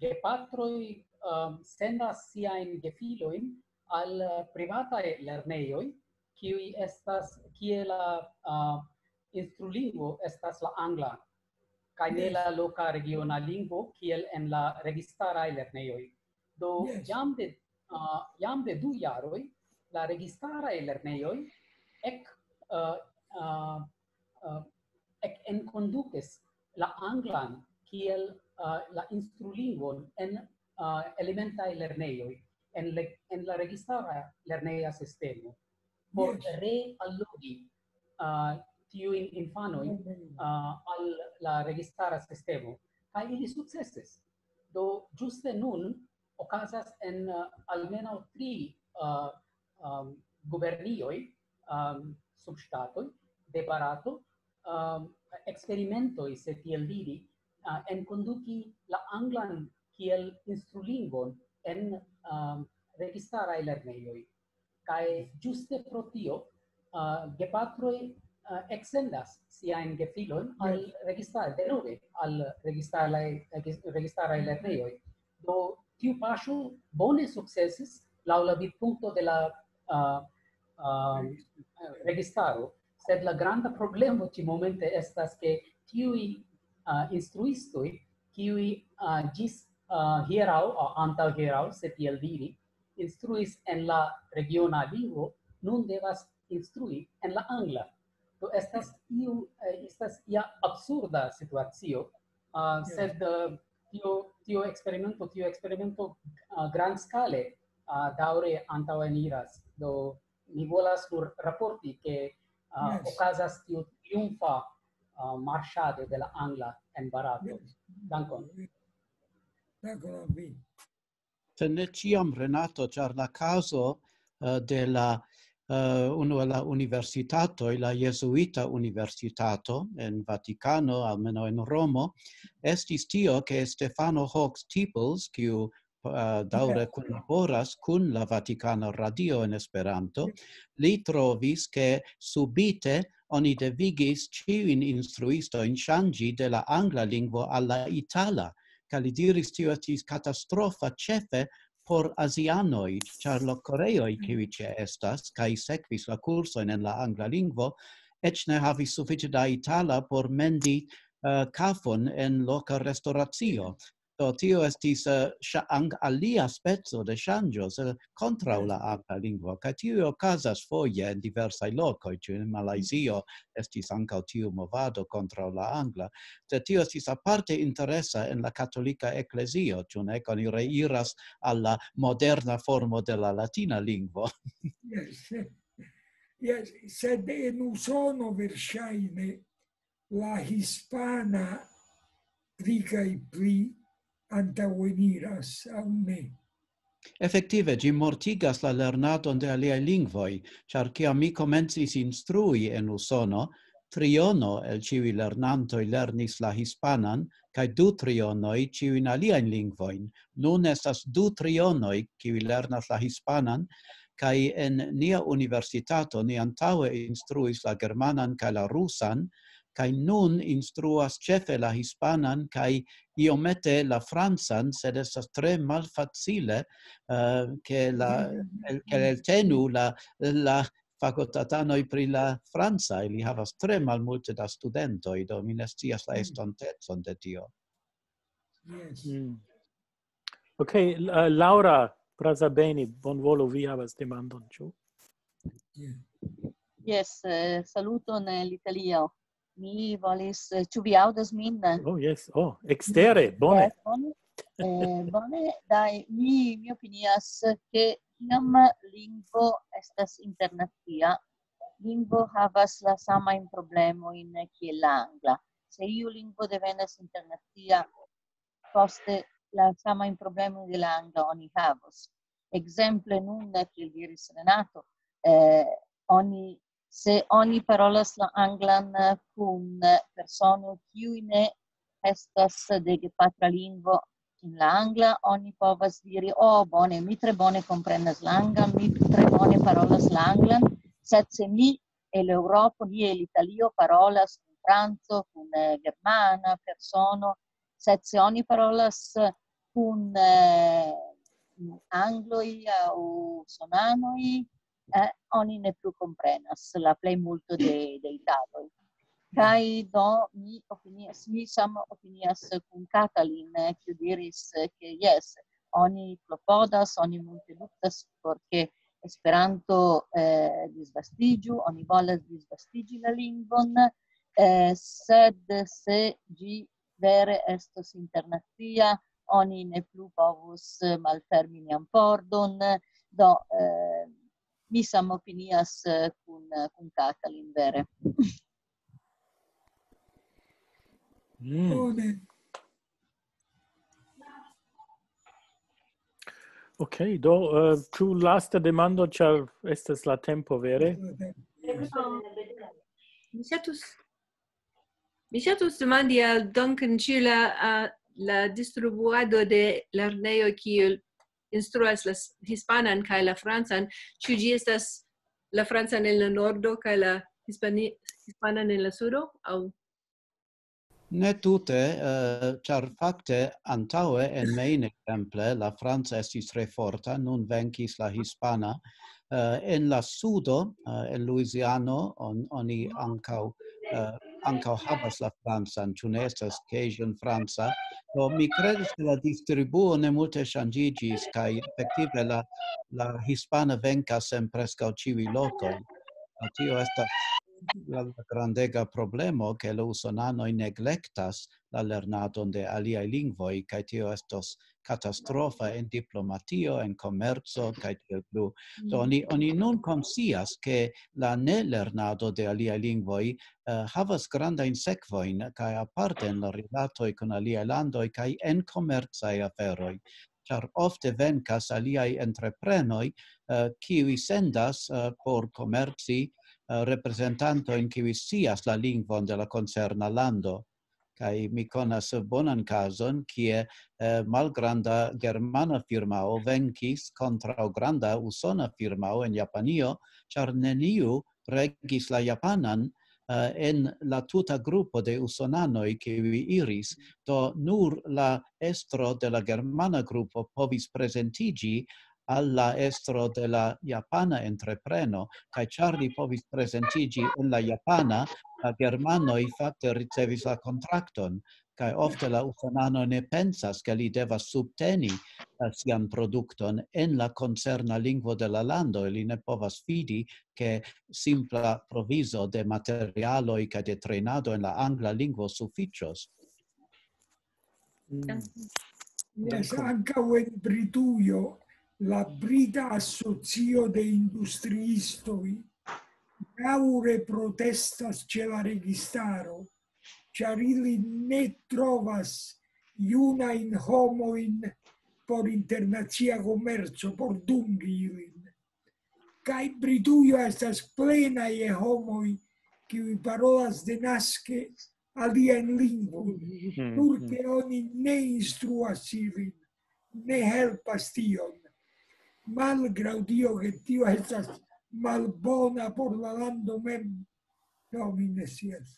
gepatroj ah, sendas siajn gefilojn al ah, privataj lernejoj, kiuj estas, kie la ah, instrulingvo estas la angla, kaj ne Yes. la loka regiona lingvo, kiel en la registaraj lernejoj. Do Yes. jam de ah, jam de du jaroj la registaraj lernejoj ek ah, ah, ah, ek enkondukis la anglan kiel ah, la instrulingvon en ah, elementaj lernejoj, en, le, en la registara lerneja sistemo, por Yes. reallogi ah, tiujn infanojn ah, al la registara sistemo, kaj ili sukcesis. Do ĝuste nun okazas en ah, almenaŭ tri ah, ah, gubernioj, ah, subŝtatoj de Barato, ah, eksperimentoj, se tiel diri, ah, enkonduki la anglan kiel instrulingvon en ah, registaraj lernejoj. Kaj ĝuste pro tio ah, gepatroj ah, eksendas siajn gefilojn al registar, denove al registaraj, regis- registaraj lernejoj. Do tiu paŝo bone sukcesis laŭ la vidpunkto de la ah, ah, registaro, sed la granda problemo ĉi momente estas, ke tiuj ah, instruistoj, kiuj ah, ĝis ah, hieraŭ, ah, antaŭ hieraŭ, se tiel diri, instruis en la regiona lingvo, nun devas instrui en la angla. Do estas iu, eh, estas ia absurda situacio, ah, Yes. sed eh, tio, tio eksperimento, tio eksperimento ah, grandskale ah, daŭre antaŭeniras. Do mi volas nur raporti, ke ah, Yes. okazas tiu triumfa ah, marŝado de la angla en Barato. Dankon. Dankon al vi. Sed ne ĉiam, Renato, ĉar la kazo eh, de la eh, unu el la universitatoj, la jezuita universitato en Vatikano, almenaŭ en Romo, estis tio, ke Stefano Hawks Peoples, kiu eh, daŭre kunlaboras kun la Vatikana Radio en Esperanto, li trovis, ke subite oni devigis ĉiujn instruistojn ŝanĝi de la angla lingvo al la itala, kaj li diris, tio estis katastrofa ĉefe por azianoj, ĉar la koreoj, kiuj ĉe estas, kaj sekvis la kursojn en la angla lingvo, eĉ ne havis sufiĉe da itala por mendi eh, kafon en loka restoracio. Do tio estis eh, ŝa- ang- alia speco de ŝanĝo, sed kontraŭ la angla lingvo. Kaj tio okazas foje en diversaj lokoj, ĉu en Malajzio estis ankaŭ tiu movado kontraŭ la angla. Sed tio estis aparte interesa en la katolika eklezio, ĉu ne, oni reiras al la moderna formo de la latina lingvo. Yes. Yes, sed en Usono verŝajne la hispana pli kaj pli antaŭeniras, aŭ ne? Efektive, ĝi mortigas la lernadon de aliaj lingvoj, ĉar kiam mi komencis instrui en Usono, triono el ĉiuj lernantoj lernis la hispanan, kaj du trionoj ĉiujn aliajn lingvojn. Nun estas du trionoj, kiuj lernas la hispanan, kaj en nia universitato ni antaŭe instruis la germanan kaj la rusan, kaj nun instruas ĉefe la hispanan kaj iomete la francan, sed estas tre malfacile, eh, ke la, el-, ke eltenu la, la fakultatanoj pri la franca, ili havas tre malmulte da studentoj, do mi ne scias la estontecon de tio. Yes. Mm. Ok, uh, Laura Brazabeni, bonvolu, vi havas demandon, ĉu? Yeah. Yes, eh, saluton el Italio. Mi volis, eh, ĉu vi aŭdas min? Oh, yes. Oh, ekstere, bone. Yes, bone. Eh, bone, dai, mi, mi opinias ke kiam lingvo estas internacia, lingvo havas la samajn problemojn kiel la angla. Se iu lingvo devenas internacia, poste la samajn problemojn de la angla oni havos. Ekzemple nun, kiel diris Renato, eh, oni, se oni parolas la anglan kun persono, kiu ne estas de gepatra lingvo en la angla, oni povas diri, "Oh, bone, mi tre bone komprenas la anglan, mi tre bone parolas la anglan," sed se mi el Eŭropo, ni el Italio parolas kun franco, kun, eh, germana persono, sed se oni parolas kun, eh, angloj aŭ usonanoj, eh, oni ne plu komprenas la plejmulto de, de italoj. Kaj do mi opinias, mi same opinias kun Katalin, eh, kiu diris, eh, ke jes, oni klopodas, oni multe luktas por ke Esperanto, eh, disvastiĝu, oni volas disvastiĝi la lingvon, eh, sed se ĝi vere estos internacia, oni ne plu povus, eh, malfermi nian pordon. Do, eh, mi same opinias, eh, kun, kun Katalin, vere. Mm. Bone. Ok, do, eh, ĉu lasta demando, ĉar estas la tempo vere? Mi ŝatus, mi ŝatus demandi al Duncan, ĉu la, a, la distribuado de lernejo, kiu instruas la s-, hispanan kaj la francan, ĉu ĝi estas la francan en la nordo kaj la hispani-, hispanan en la sudo, aŭ? Ne tute, eh, ĉar fakte antaŭe en Maine, ekzemple, la franca estis tre forta, nun venkis la hispana. Eh, en la sudo, eh, en Louisiano, on-, oni ankaŭ, eh, ankaŭ havas la francan, ĉu ne estas Cajun franca. Do mi kredas, ke la distribuo ne multe ŝanĝiĝis, kaj efektive la, la hispana venkas en preskaŭ ĉiuj lokoj. Do tio estas la, la grandega problemo, ke la usonanoj neglektas la lernadon de aliaj lingvoj, kaj tio estos katastrofa en diplomatio, en komerco, kaj tiel plu. Do oni, oni nun konscias, ke la ne lernado de aliaj lingvoj, eh, havas grandajn sekvojn, kaj aparte en la rilatoj kun aliaj landoj, kaj en komercaj aferoj. Ĉar ofte venkas aliaj entreprenoj, eh, kiuj sendas, eh, por komerci, eh, reprezentantojn, kiuj scias la lingvon de la koncerna lando. Kaj mi konas bonan kazon, kie, eh, malgranda germana firmao venkis kontraŭ granda usona firmao en Japanio, ĉar neniu regis la japanan, eh, en la tuta grupo de usonanoj, kiuj iris. Do nur la estro de la germana grupo povis prezentiĝi al la estro de la japana entrepreno, kaj ĉar li povis prezentiĝi en la japana, la germanoj fakte ricevis la kontrakton, kaj ofte la usonano ne pensas, ke li devas subteni, eh, sian produkton en la koncerna lingvo de la lando, li ne povas fidi, ke simpla provizo de materialoj kaj de trejnado en la angla lingvo sufiĉos. Mm. Yes, ankaŭ en Britujo la Brita Asocio de Industriistoj daŭre protestas ĉe la registaro, ĉar ili ne trovas junajn homojn por internacia komerco, por dungi ilin. Kaj Britujo estas plena je homoj, kiuj parolas denaske aliajn lingvojn, Mm, nur mm. ke oni ne instruas ilin, ne helpas tion. Malgraŭ tio, ke tio estas malbona por la lando mem, do mi ne scias.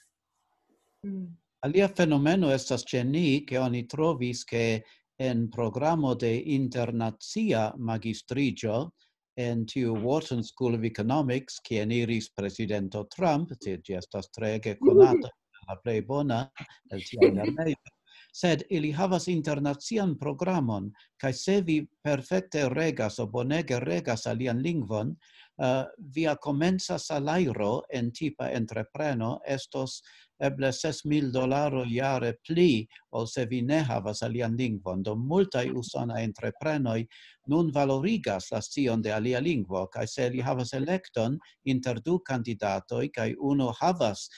Alia fenomeno estas ĉe ni, ke oni trovis, ke en programo de internacia magistriĝo en tiu Wharton School of Economics, kien iris prezidento Trump, ti- ĝi estas treege konata, la plej bona el tiaj lernejoj, sed ili havas internacian programon, kaj se vi perfekte regas o bonege regas alian lingvon, eh, via komenca salajro en tipa entrepreno estos eble ses mil dolaro jare pli, ol se vi ne havas alian lingvon. Do multaj usonaj entreprenoj nun valorigas la scion de alia lingvo, kaj se ili havas elekton inter du kandidatoj, kaj unu havas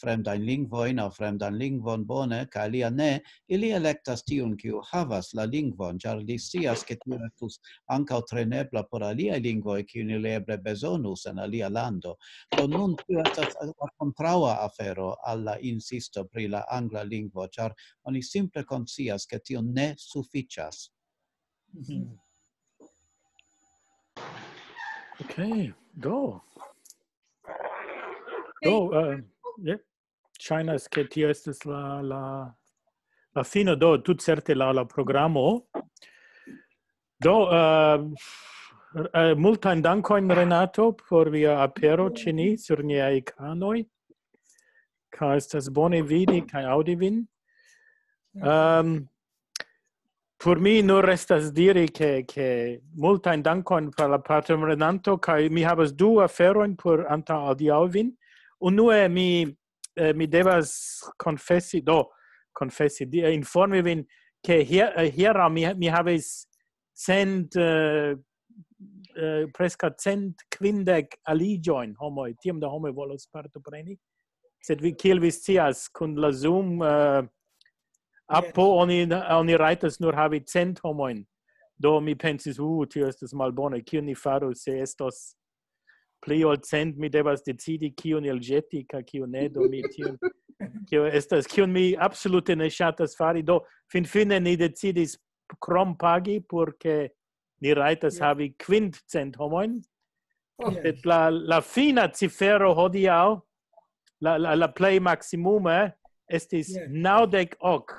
fremdajn lingvojn aŭ fremdan lingvon bone, kaj alia ne, ili elektas tiun, kiu havas la lingvon, ĉar li scias, ke tio estus ankaŭ trenebla por aliaj lingvoj, kiujn ili eble bezonus en alia lando. Do nun tio estas la kontraŭa afero al la insisto pri la angla lingvo, ĉar oni simple konscias, ke tio ne sufiĉas. Mm. Ok, do. Do, eh, yeah. Ŝajnas, ke tio estas la, la, la fino, do, tutcerte la, la programo. Do, eh, eh, multajn dankojn, Renato, por via apero ĉe ni sur niaj ekranoj. Kaj estas bone vidi kaj aŭdi vin. Ehm, por mi nur restas diri, ke, ke multajn dankojn por la partoprenanto, kaj mi havas du aferojn por antaŭ adiaŭi vin. Unue mi, eh, mi devas konfesi, do, konfesi, di- eh, informi vin, ke hier-, eh, hieraŭ mi, mi havis cent, eh, eh, preskaŭ cent kvindek aliĝojn homoj, tiom da homoj volos partopreni. Sed vi, kiel vi scias, kun la Zoom, eh, apo oni, oni rajtas nur havi cent homojn. Do mi pensis, "Uh, tio estas malbone, kion ni faru, se estos pli ol cent, mi devas decidi, kiun elĵeti, kaj kiun ne, do mi tion, kio estas, kion mi absolute ne ŝatas fari." Do finfine ni decidis krom pagi, por ke ni rajtas Ja. havi kvindcent homojn. Yes. Sed la, la fina cifero hodiaŭ, la, la, la plej maksimume, estis Yes. naŭdek ok.